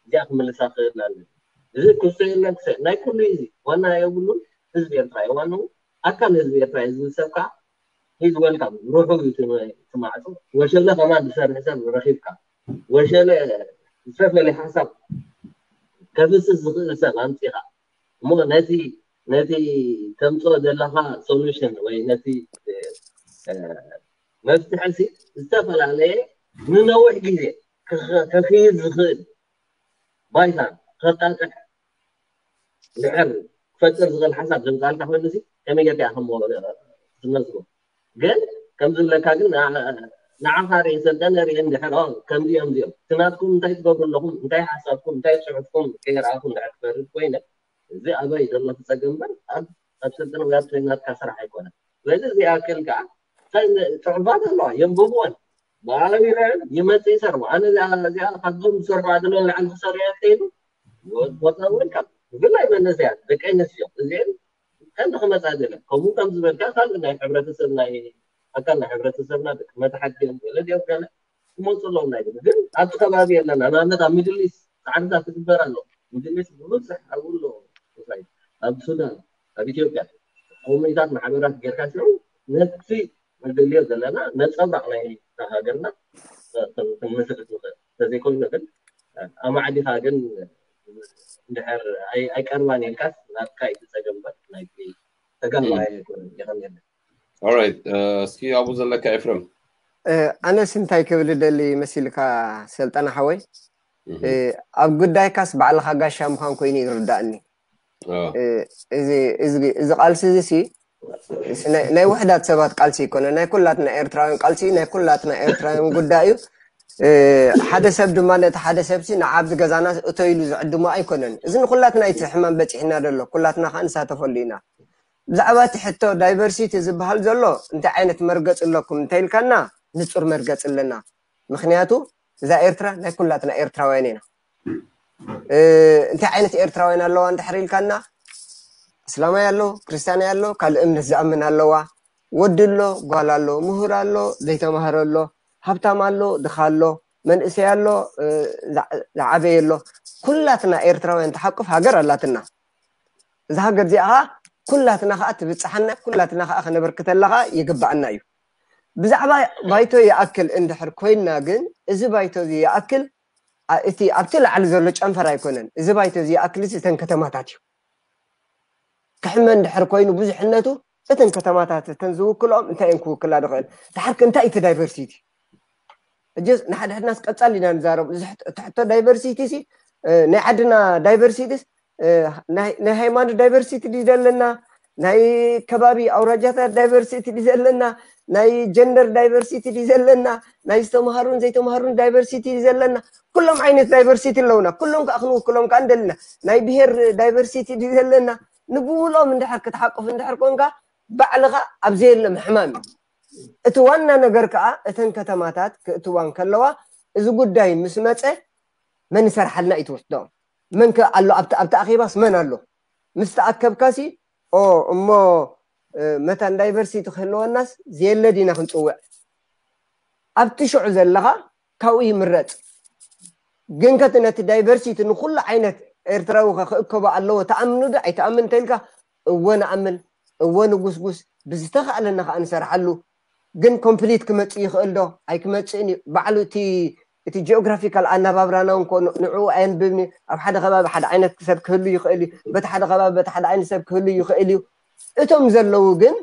እዚኣ ክምልሳ ክእል ኣለ። እዚ ክስቶ የለን ክሰ ናይ ኩሉ እዩ እዚ ዋና የብሉን። ህዝቢ ኤርትራ እዩ ዋንኡ ኣካል ህዝቢ ኤርትራ እዩ ዝብል ሰብ ከዓ ሂዝ ወልካም ሩሑ እዩ ትማዕፆ። ወሸለ ከማን ዝሰርሕ ሰብ ረኪብካ ወሸለ ዝተፈለየ ሓሳብ ከፍስስ ዝኽእል ሰብ ኣምፂኻ እሞ ነቲ ነቲ ተምፅኦ ዘለካ ሶሉሽን ወይ ነቲ መፍትሒ ሲ ዝተፈላለየ ንነዊሕ ግዜ ከኽይድ ዝኽእል ባይታ ከጣጥሕ ድሕር ክፈጥር ዝኽእል ሓሳብ ዘምፃልካ ኮይኑ ሲ ከመይ ጌርካ ከም ትመዝጎ ግን ከም ዝብለካ ግን ንዓኻ ርኢ ሰልጠነ ርኢ እንድሕር ከምዚኦም እዚኦም እቲ ናትኩም እንታይ ትገብሩ ኣለኹም እንታይ ሓሳብኩም እንታይ ፅሑፍኩም ከይረኣኹ እንድሕር ክፈርድ ኮይነ እዚ ኣበይ ዘሎ ክፀገም እምበር ኣብ ኣብ ስልጠነ ወይ ኣብ ትሬኒንግ ናትካ ስራሕ ኣይኮነን። ስለዚ እዚኣ ክእል ከዓ እንታይ ን- ፅሑፋት ኣለዋ የንብብወን ብኣቢረን ይመፅእ ይሰርሑ ኣነ እዚኣ እዚኣ ካብዞም ዝሰርሑ ኣድሎ ንላዕሊ ክሰርሑ እያ ተይሉ ቦታ ወልካም ብፍላይ መንእሰያት ደቂ ኣንስትዮ እዚአን ቀንዲ ክመፃ ደለ ከምኡ ከም ዝበልካ ካልእ ናይ ሕብረተሰብ ናይ ኣካል ናይ ሕብረተሰብና ደቂ መታሓት ገለ ገለ ክመፁ ኣለዎም ናይ ግን ኣብቲ ከባቢ የለና ንኣብነት ኣብ ሚድል ኢስት ፃዕርታት ትግበር ኣሎ። ሚድል ኢስት ብብዝሕ ኣብኡ ኣሎ ኣብ ሱዳን ኣብ ኢትዮጵያ ኮሚኒታት ማሕበራት ጌርካ ሽዑ ነቲ ንደልዮ ዘለና ነፀብራቕ ናይ ሃገርና ክንምስርት ንኽእል እንተዘይኮይኑ ግን ኣማዕዲኻ ግን እንድሕር ኣይቀርባን ኢልካስ ናትካ እዩ ዝፀገም እምበር ናይቲ ተጋባኣይ ኣይኮነን ይኸም የለን። ኦራይት እስኪ ኣብኡ ዘለካ ኤፍረም ኣነስ እንታይ ክብል ደሊ መሲልካ ሰልጠና ሓወይ ኣብ ጉዳይካስ ባዕልካ ጋሻ ምዃን ኮይኑ ይርዳእኒ እዚ ቃልሲ እዚ ሲ ናይ ውሕዳት ሰባት ቃልሲ ይኮነ ናይ ኩላትና ኤርትራውያን ቃልሲ ናይ ኩላትና ኤርትራውያን ጉዳይ እዩ ሓደ ሰብ ድማ ነቲ ሓደ ሰብሲ ንዓብዚ ገዛና እቶ ኢሉ ዝዕድሞ ኣይኮነን እዚ ንኩላትና እቲ ሕማም በፂሕና ዘሎ ኩላትና ከዓ ንሳተፈሉ ኢና ብዛዕባ እቲ ሕቶ ዳይቨርሲቲ ዝበሃል ዘሎ እንታይ ዓይነት መርገፂ ኣለኩም እንተኢልካና ንፁር መርገፂ ኣለና ምክንያቱ እዛ ኤርትራ ናይ ኩላትና ኤርትራውያን ኢና እንታይ ዓይነት ኤርትራውያን ኣለዋ እንድሕር ኢልካና እስላማይ ኣሎ ክርስትያናይ ኣሎ ካልእ እምነት ዝኣምን ኣለዋ ወዲ ኣሎ ጓል ኣሎ ምሁር ኣሎ ዘይተማህረ ኣሎ ሃብታም ኣሎ ድኻ ኣሎ መንእሰይ ኣሎ ዝዓበየ ኣሎ ኩላትና ኤርትራውያን ትሓቁፍ ሃገር ኣላትና እዛ ሃገር እዚኣ ከዓ ኩላትና ከዓ ትብፅሓና ኩላትና ከዓ ከነበርክተላ ከዓ ይግባኣና እዩ ብዛዕባ ባይቶ ይኣክል እንድሕር ኮይንና ግን እዚ ባይቶ እዚ ይኣክል እቲ ኣብቲ ላዕሊ ዘሎ ጨንፈር ኣይኮነን እዚ ባይቶ እዚ ይኣክል እዚ እተን ከተማታት እዩ ክሕመ እንድሕር ኮይኑ ብዙሕነቱ እተን ከተማታት እተን ዝውክልኦም እንታይ እየን ክውክላ ዝኽእል ድሓርክ እንታይ እቲ ዳይቨርሲቲ እጅስ ንሓድሕድናስ ቀጻል ኢና ንዛረብ እዚ ሕቶ ዳይቨርሲቲ ሲ ናይ ዓድና ዳይቨርሲቲስ ናይ ሃይማኖት ዳይቨርሲቲ ድዩ ዘለና ናይ ከባቢ ኣውራጃታት ዳይቨርሲቲ ድዩ ዘለና ናይ ጀንደር ዳይቨርሲቲ ድዩ ዘለና ናይ ዝተምሃሩን ዘይተምሃሩን ዳይቨርሲቲ ድዩ ዘለና ኩሎም ዓይነት ዳይቨርሲቲ ኣለውና ኩሎም ከዓ ክንውክሎም ከዓ እንደልና ናይ ብሄር ዳይቨርሲቲ ድዩ ዘለና ንብብሎም እንድሕር ክትሓቁፍ እንድሕር ኮንካ ባዕልኻ ኣብ ዘየለ ምሕማም እዩ እቲ ዋና ነገር ከዓ እተን ከተማታት ክእትዋ እንከለዋ እዚ ጉዳይ ምስ መፀ መን ይሰርሓልና እዩ ትወስዶ መን ከ ኣሎ ኣብቲ ኣብቲ ኣኼባስ መን ኣሎ ምስ ተኣከብካሲ ኦ እሞ መታን ዳይቨርሲቲ ክህልወናስ ዘየለ ዲና ክንፅውዕ ኣብቲ ሽዑ ዘለኻ ካብኡ ይምረፅ። ግን ከቲ ነቲ ዳይቨርሲቲ ንኩሉ ዓይነት ኤርትራዊ ከ ክእከቦ ኣለዎ ትኣምኑ ዶ ኣይትኣምን እንተኢልካ፣ እወ ንኣምን፣ እወ ንጉስጉስ፣ ብዝተኻእለና ከዓ ንሰርሓሉ። ግን ኮምፕሊት ክመፅእ ይኽእል ዶ ኣይክመፅእን እዩ። ባዕሉ እቲ እቲ ጂኦግራፊካል ኣነባብራና እንኮ ንዕኡ ኣየንብብን እዩ። ኣብ ሓደ ከባቢ ሓደ ዓይነት ሰብ ክህሉ ይኽእል እዩ፣ በቲ ሓደ ከባቢ በቲ ሓደ ዓይነት ሰብ ክህሉ ይኽእል እዩ። እቶም ዘለዉ ግን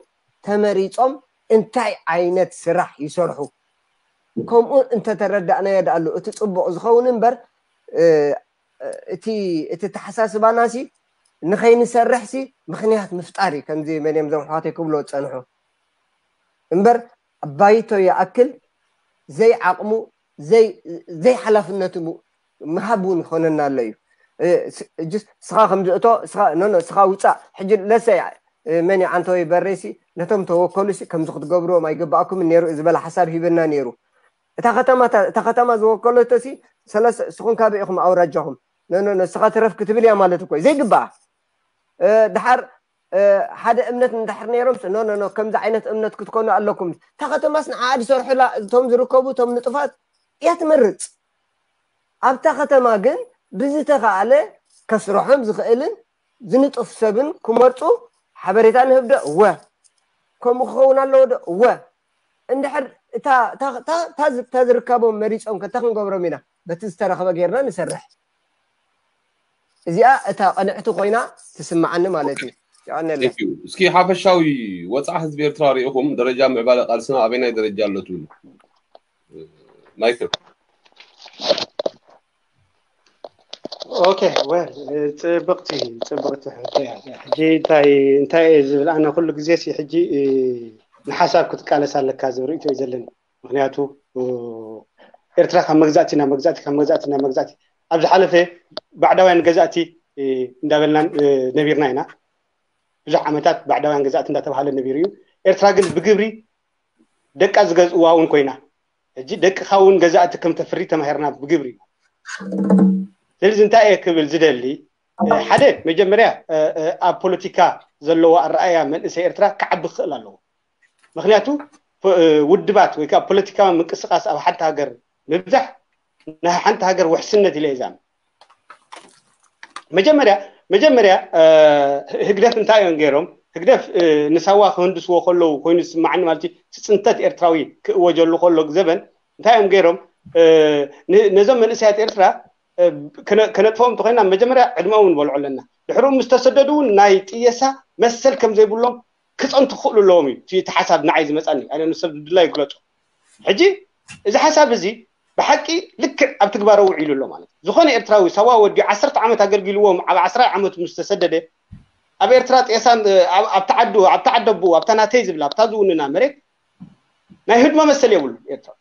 ተመሪፆም እንታይ ዓይነት ስራሕ ይሰርሑ፣ ከምኡ እንተተረዳእናዮ ደኣሉ እቲ ፅቡቕ ዝኸውን እምበር፣ እቲ ተሓሳስባና ሲ ንኸይንሰርሕ ሲ ምኽንያት ምፍጣር እዩ። ከምዚ መን እዮም ዞም ኣሕዋተይ ክብሎ ዝፀንሑ እምበር፣ ኣባይቶ ይኣክል ዘይዓቕሙ ዘይሓላፍነቱ ምሃብ እውን ይኾነና ኣሎ እዩ። ስኻ ከምዚ እቶ ስኻ ውፃእ ሕጂ ለሰ መን ዓንተወይ በሬሲ ነቶም ተወከሉ ሲ ከምዚ ክትገብርዎም ኣይግባእኩም ነይሩ ዝበለ ሓሳብ ሂበና ነይሩ። እታ ከተማ ዝወከለቶ ሲ ሰለስተ ስኹም ካበይ ኢኹም ኣውራጃኹም ነስኻ ትረፍ ክትብል እያ ማለት እኮ ዘይግባኣ። ድሓር ሓደ እምነት እንድሕር ነይሮም ኖ ኖ ከምዚ ዓይነት እምነት ክትኮኑ ኣለኩም። እታ ከተማስ ንዓ ዝሰርሑላ እቶም ዝርከቡ እቶም ንጡፋት እያ ትመርፅ። ኣብታ ከተማ ግን ብዝተኻእለ ከስርሖም ዝኽእልን ዝንጡፍ ሰብን ክመርፁ ሓበሬታ ንህብ ዶ? እወ። ከምኡ ክኸውን ኣለዎ ዶ? እወ። እንድሕር እታ ዝርከቦም መሪፆም ከታ ክንገብሮም ኢና። በቲ ዝተረኽበ ጌርና ንሰርሕ። እዚኣ እታ ቅንዕቲ ኮይና ትስምዓኒ ማለት እዩ። እስኪ ሓፈሻዊ ወፃዕ ህዝቢ ኤርትራ ሪኢኹም ደረጃ ምዕባለ ቃልስና ኣበይናይ ደረጃ ኣሎ ትብሉ? ማይክል። ኦኬ ወል ጽብቕቲ ጽብቕቲ ሕቶ እያ። ሕጂ እንታይ እንታይ እየ ዝብል ኣነ ኩሉ ግዜ ሲ ሕጂ ንሓሳብ ክትቃለስ ኣለካ ዝብል ርእቶ እዩ ዘለኒ። ምክንያቱ ኤርትራ ካብ መግዛእቲ ናብ መግዛእቲ ካብ መግዛእቲ ናብ መግዛእቲ ኣብ ዝሓለፈ ባዕዳውያን ገዛእቲ እንዳበልና ነቢርና ኢና። ብዙሕ ዓመታት ባዕዳውያን ገዛእቲ እንዳተባሃለ ነቢሩ እዩ። ኤርትራ ግን ብግብሪ ደቃ ዝገዝእዋ እውን ኮይና ሕጂ ደቅኻ እውን ገዛእቲ ከም ተፍሪ ተማሂርና ብግብሪ። ስለዚ እንታይ እየ ክብል ዝደሊ ሓደ መጀመርያ ኣብ ፖለቲካ ዘለዎ ኣረኣያ መንእሰይ ኤርትራ ክዓቢ ክኽእል ኣለዎ። ምክንያቱ ውድባት ወይ ከዓ ፖለቲካዊ ምንቅስቃስ ኣብ ሓንቲ ሃገር ምብዛሕ ናይ ሓንቲ ሃገር ውሕስነት ኢለ እዛም መጀመርያ መጀመርያ ህግደፍ እንታይ እዮም ገይሮም? ህግደፍ ንሳዋ ክህንድስዎ ከለዉ ኮይኑ ዝስማዓኒ ማለት እዩ። እቲ ፅንተት ኤርትራዊ ክእወጀሉ ከሎ ዘበን እንታይ እዮም ገይሮም? ነዞም መንእሰያት ኤርትራ ከነጥፎም እንተኮይና መጀመርያ ዕድመኦም ንበልዖ ኣለና። ድሕሩ ምስ ተሰደዱ እውን ናይ ጥየሳ መሰል ከም ዘይብሎም ክፀንቱ ክኽእሉ ኣለዎም እዩ። እቲ ሓሳብ ንዓይ ዝመፃኒ ኣነ ንሰብ ድላ ይግለፁ። ሕጂ እዚ ሓሳብ እዚ ብሓቂ ልክዕ ኣብ ትግባረ ውዒሉ ኣሎ ማለት እዩ። ዝኾነ ኤርትራዊ ሳዋ ወዲ ዓሰርተ ዓመት ኣገልጊልዎም ኣብ ዓስራይ ዓመቱ ምስ ተሰደደ ኣብ ኤርትራ ጤሳን ኣብቲ ዓዱ ኣብቲ ዓደቡ ኣብታ ናተይ ዝብላ ኣብታ ዝውንና መሬት ናይ ህድሞ መሰል የብሉን ኤርትራዊ።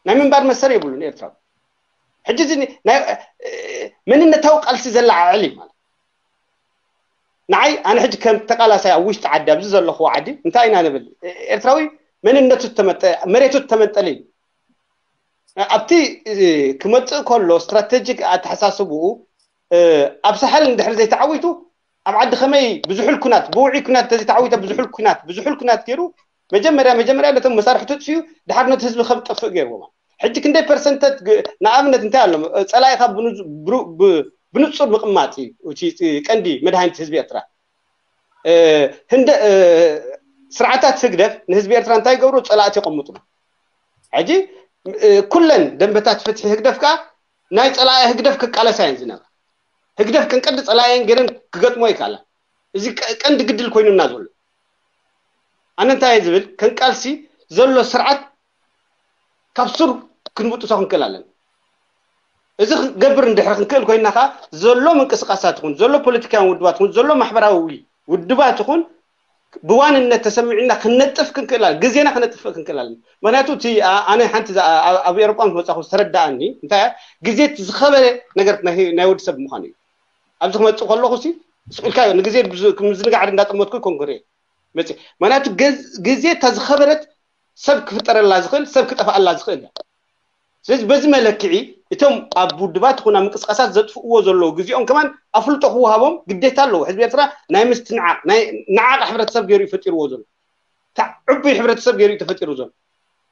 ናይ ምንባር መሰል የብሉን ኤርትራዊ። ሕጂ እዚ መንነታዊ ቃልሲ ዘለዓዕል እዩ ማለት ንዓይ ኣነ ሕጂ ከም ተቃላሳይ ኣብ ውሽጢ ዓዲ ኣብዚ ዘለኹዎ ዓዲ እንታይ ኢና ንብል? ኤርትራዊ መንነቱ ተመጠ መሬቱ ተመንጠለ እዩ። ኣብቲ ክመፅእ ከሎ ስትራቴጂክ ኣተሓሳስብኡ ኣብ ሳሕል እንድሕር ዘይተዓዊቱ ኣብ ዓዲ ከመይ ብዙሑል ኩናት ብውዑይ ኩናት ተዘይተዓዊተ ብዙሑል ኩናት ብዙሑል ኩናት ገይሩ መጀመርያ መጀመርያ ነቶም መሳርሕቱ ጥፍኡ ድሓር ነቲ ህዝቢ ከም ጠፍእ ገይርዎ። ሕጂ ክንደይ ፐርሰንተት ንኣብነት እንታይ ኣሎ ፀላኢኻ ብንፁር ምቕማጥ እዩ። ቀንዲ መድሃኒት ህዝቢ ኤርትራ ህንደ ስርዓታት ህግደፍ ንህዝቢ ኤርትራ እንታይ ይገብሩ? ፀላእቲ የቐምጡ። ሕጂ ኩለን ደንበታት ፍትሒ ህግደፍ ከዓ ናይ ፀላኢ ህግደፍ ክቃለሳ እየን ዝነበራ። ህግደፍ ቀንቀዲ ፀላእየን ገይረን ክገጥሞ ይከኣላ። እዚ ቀንዲ ግድል ኮይኑና ዘሎ ኣነ እንታይ እየ ዝብል ከንቃልሲ ዘሎ ስርዓት ካብ ሱር ክንብጥሶ ክንክእል ኣለና። እዚ ክገብር እንድሕር ክንክእል ኮይና ከዓ ዘሎ ምንቅስቃሳት ይኹን ዘሎ ፖለቲካውያን ውድባት ይኹን ዘሎ ማሕበራዊ ውድባት ይኹን ብዋንነት ተሰሚዑና ክነጥፍ ክንክእል ግዜና ክነጥፍእ ክንክእል ኣለና። ምክንያቱ እቲ ኣነ ሓንቲ ኣብ ኤሮጳ ምስ መፃኹ ዝተረዳኣኒ እንታይ ግዜ ዝኸበረ ነገር ናይ ወዲ ሰብ ምዃኑ እዩ። ኣብዚ ክመፅእ ከለኹ ሲ ስቁልካ ንግዜ ምዝንጋዕ እንዳጠመትኩ ኮንክሬ መፅእ ምክንያቱ ግዜ እታ ዝኸበረት ሰብ ክፍጠረላ ዝኽእል ሰብ ክጠፍኣላ ዝኽእል እያ። ስለዚ በዚ መለክዒ እቶም ኣብ ውድባት ይኹን ኣብ ምንቅስቃሳት ዘጥፍእዎ ዘለዉ ግዜኦም ከማን ኣፍልጦ ክወሃቦም ግዴታ ኣለዎ። ህዝቢ ኤርትራ ናይ ምስትንዓቕ ናይ ነዓቕ ሕብረተሰብ ገይሩ እዩ ፈጢርዎ ዘሎ። እታ ዕቡይ ሕብረተሰብ ገይሩ እዩ ተፈጢሩ ዘሎ።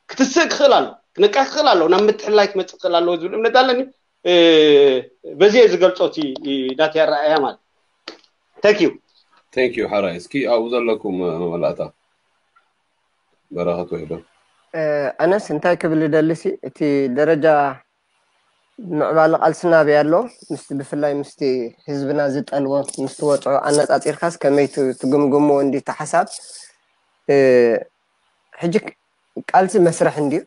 ክትስእ ክኽእል ኣሎ፣ ክነቅሕ ክኽእል ኣሎ፣ ናብ ምትሕልላይ ክመፅእ ክኽእል ኣለዎ ዝብል እምነት ኣለኒ። በዚ እየ ዝገልፆ እቲ ናተይ ኣረኣእያ ማለት። Thank you። Thank you ሓራይ። እስኪ ኣብኡ ዘለኩም መመላእታ በረኸት ወይ ዶ ኣነስ እንታይ ክብል ደልሲ እቲ ደረጃ ምዕባለ ቃልስና ኣበይ ኣሎ? ምስቲ ብፍላይ ምስቲ ህዝብና ዝጠልቦ ምስቲ ወፅዖ ኣነፃፂርካስ ከመይ ትግምግምዎ እንዲ ተሓሳብ? ሕጂ ቃልሲ መስርሕ እንድዩ።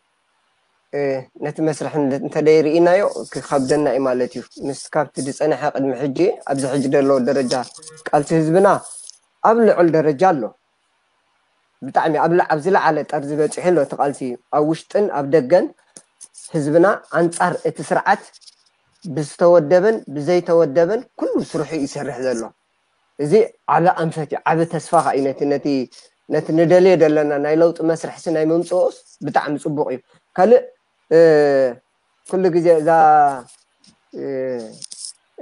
ነቲ መስርሕ እንተደይ ርኢናዮ ክኸብደና እዩ ማለት እዩ። ምስ ካብቲ ዝፀንሐ ቅድሚ ሕጂ ኣብዚ ሕጂ ዘሎ ደረጃ ቃልሲ ህዝብና ኣብ ልዑል ደረጃ ኣሎ። ብጣዕሚ ኣብ ኣብ ዝለዓለ ጠርዚ በፂሑ ኣሎ እቲ ቃልሲ ኣብ ውሽጥን ኣብ ደገን ህዝብና ኣንፃር እቲ ስርዓት ብዝተወደበን ብዘይተወደበን ኩሉ ስርሑ ይሰርሕ ዘሎ። እዚ ዓቢ ኣንፈት እዩ፣ ዓቢ ተስፋ ከዓ እዩ። ነቲ ነቲ ነቲ ንደልዮ ዘለና ናይ ለውጢ መስርሕሲ ናይ መምፅኦስ ብጣዕሚ ፅቡቅ እዩ። ካልእ ኩሉ ግዜ እዛ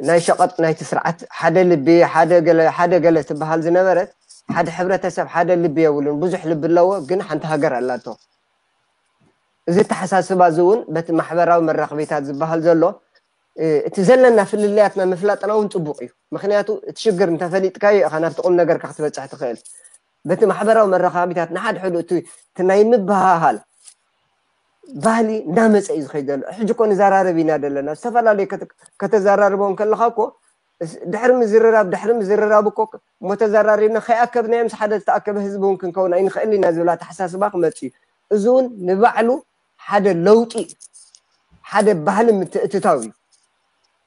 ናይ ሸቐጥ ናይቲ ስርዓት ሓደ ልቢ ሓደ ገለ ትበሃል ዝነበረት፣ ሓደ ሕብረተሰብ ሓደ ልቢ የብሉን። ብዙሕ ልቢ ኣለዎ ግን ሓንቲ ሃገር ኣላቶ። እዚ ኣተሓሳስባ እዚ እውን በቲ ማሕበራዊ መራኸቢታት ዝበሃል ዘሎ እቲ ዘለና ፍልልያትና ምፍላጥና እውን ፅቡቅ እዩ። ምክንያቱ እቲ ሽግር እንተፈሊጥካዮ ኢኻ ናብቲ ቁም ነገርካ ክትበፅሕ ትኽእል። በቲ ማሕበራዊ መራኸቢታት ንሓድሕዱ እቲ ናይ ምብሃሃል ባህሊ እንዳመፀ እዩ ዝኸይድ ዘሎ። ሕጂ እኮ ንዘራረብ ኢና ዘለና። ዝተፈላለዩ ከተዘራርቦ እንከለካ እኮ ድሕሪ ምዝርራብ ድሕሪ ምዝርራብ እኮ እሞ ተዘራሪብና ከይኣከብናዮ ምስ ሓደ ዝተኣከበ ህዝቢ እውን ክንከውን ኣይንኽእል ኢና ዝብል ኣተሓሳስባ ክመፅእ እዩ። እዚ እውን ንባዕሉ ሓደ ለውጢ ሓደ ባህሊ ምትእትታው እዩ።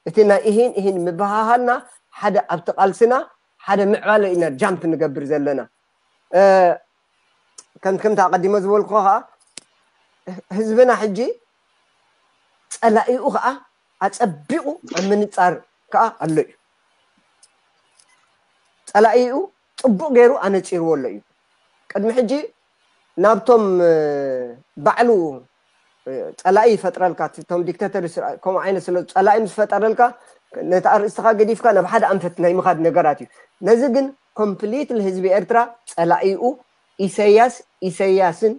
እቲ ናይ እሂን እሂን ምብሃሃልና ሓደ ኣብቲ ቃልስና ሓደ ምዕባለ ኢና ጃምፕ ንገብር ዘለና። ከም ከምቲ ኣቐዲሞ ዝበልኩ ከዓ ህዝብና ሕጂ ፀላኢኡ ከዓ ኣፀቢቑ ኣብ ምንፃር ከዓ ኣሎ እዩ። ፀላኢኡ ፅቡቅ ገይሩ ኣነፂርዎ ኣሎ እዩ። ቅድሚ ሕጂ ናብቶም ባዕሉ ፀላኢ ይፈጥረልካ፣ እቶም ዲክተተር ከምኡ ዓይነት ስለ ፀላኢ ምስ ፈጠረልካ ነቲ ኣርእስትኻ ገዲፍካ ናብ ሓደ ኣንፈት ናይ ምኻድ ነገራት እዩ። ነዚ ግን ኮምፕሊትሊ ህዝቢ ኤርትራ ፀላኢኡ ኢሰያስ ኢሰያስን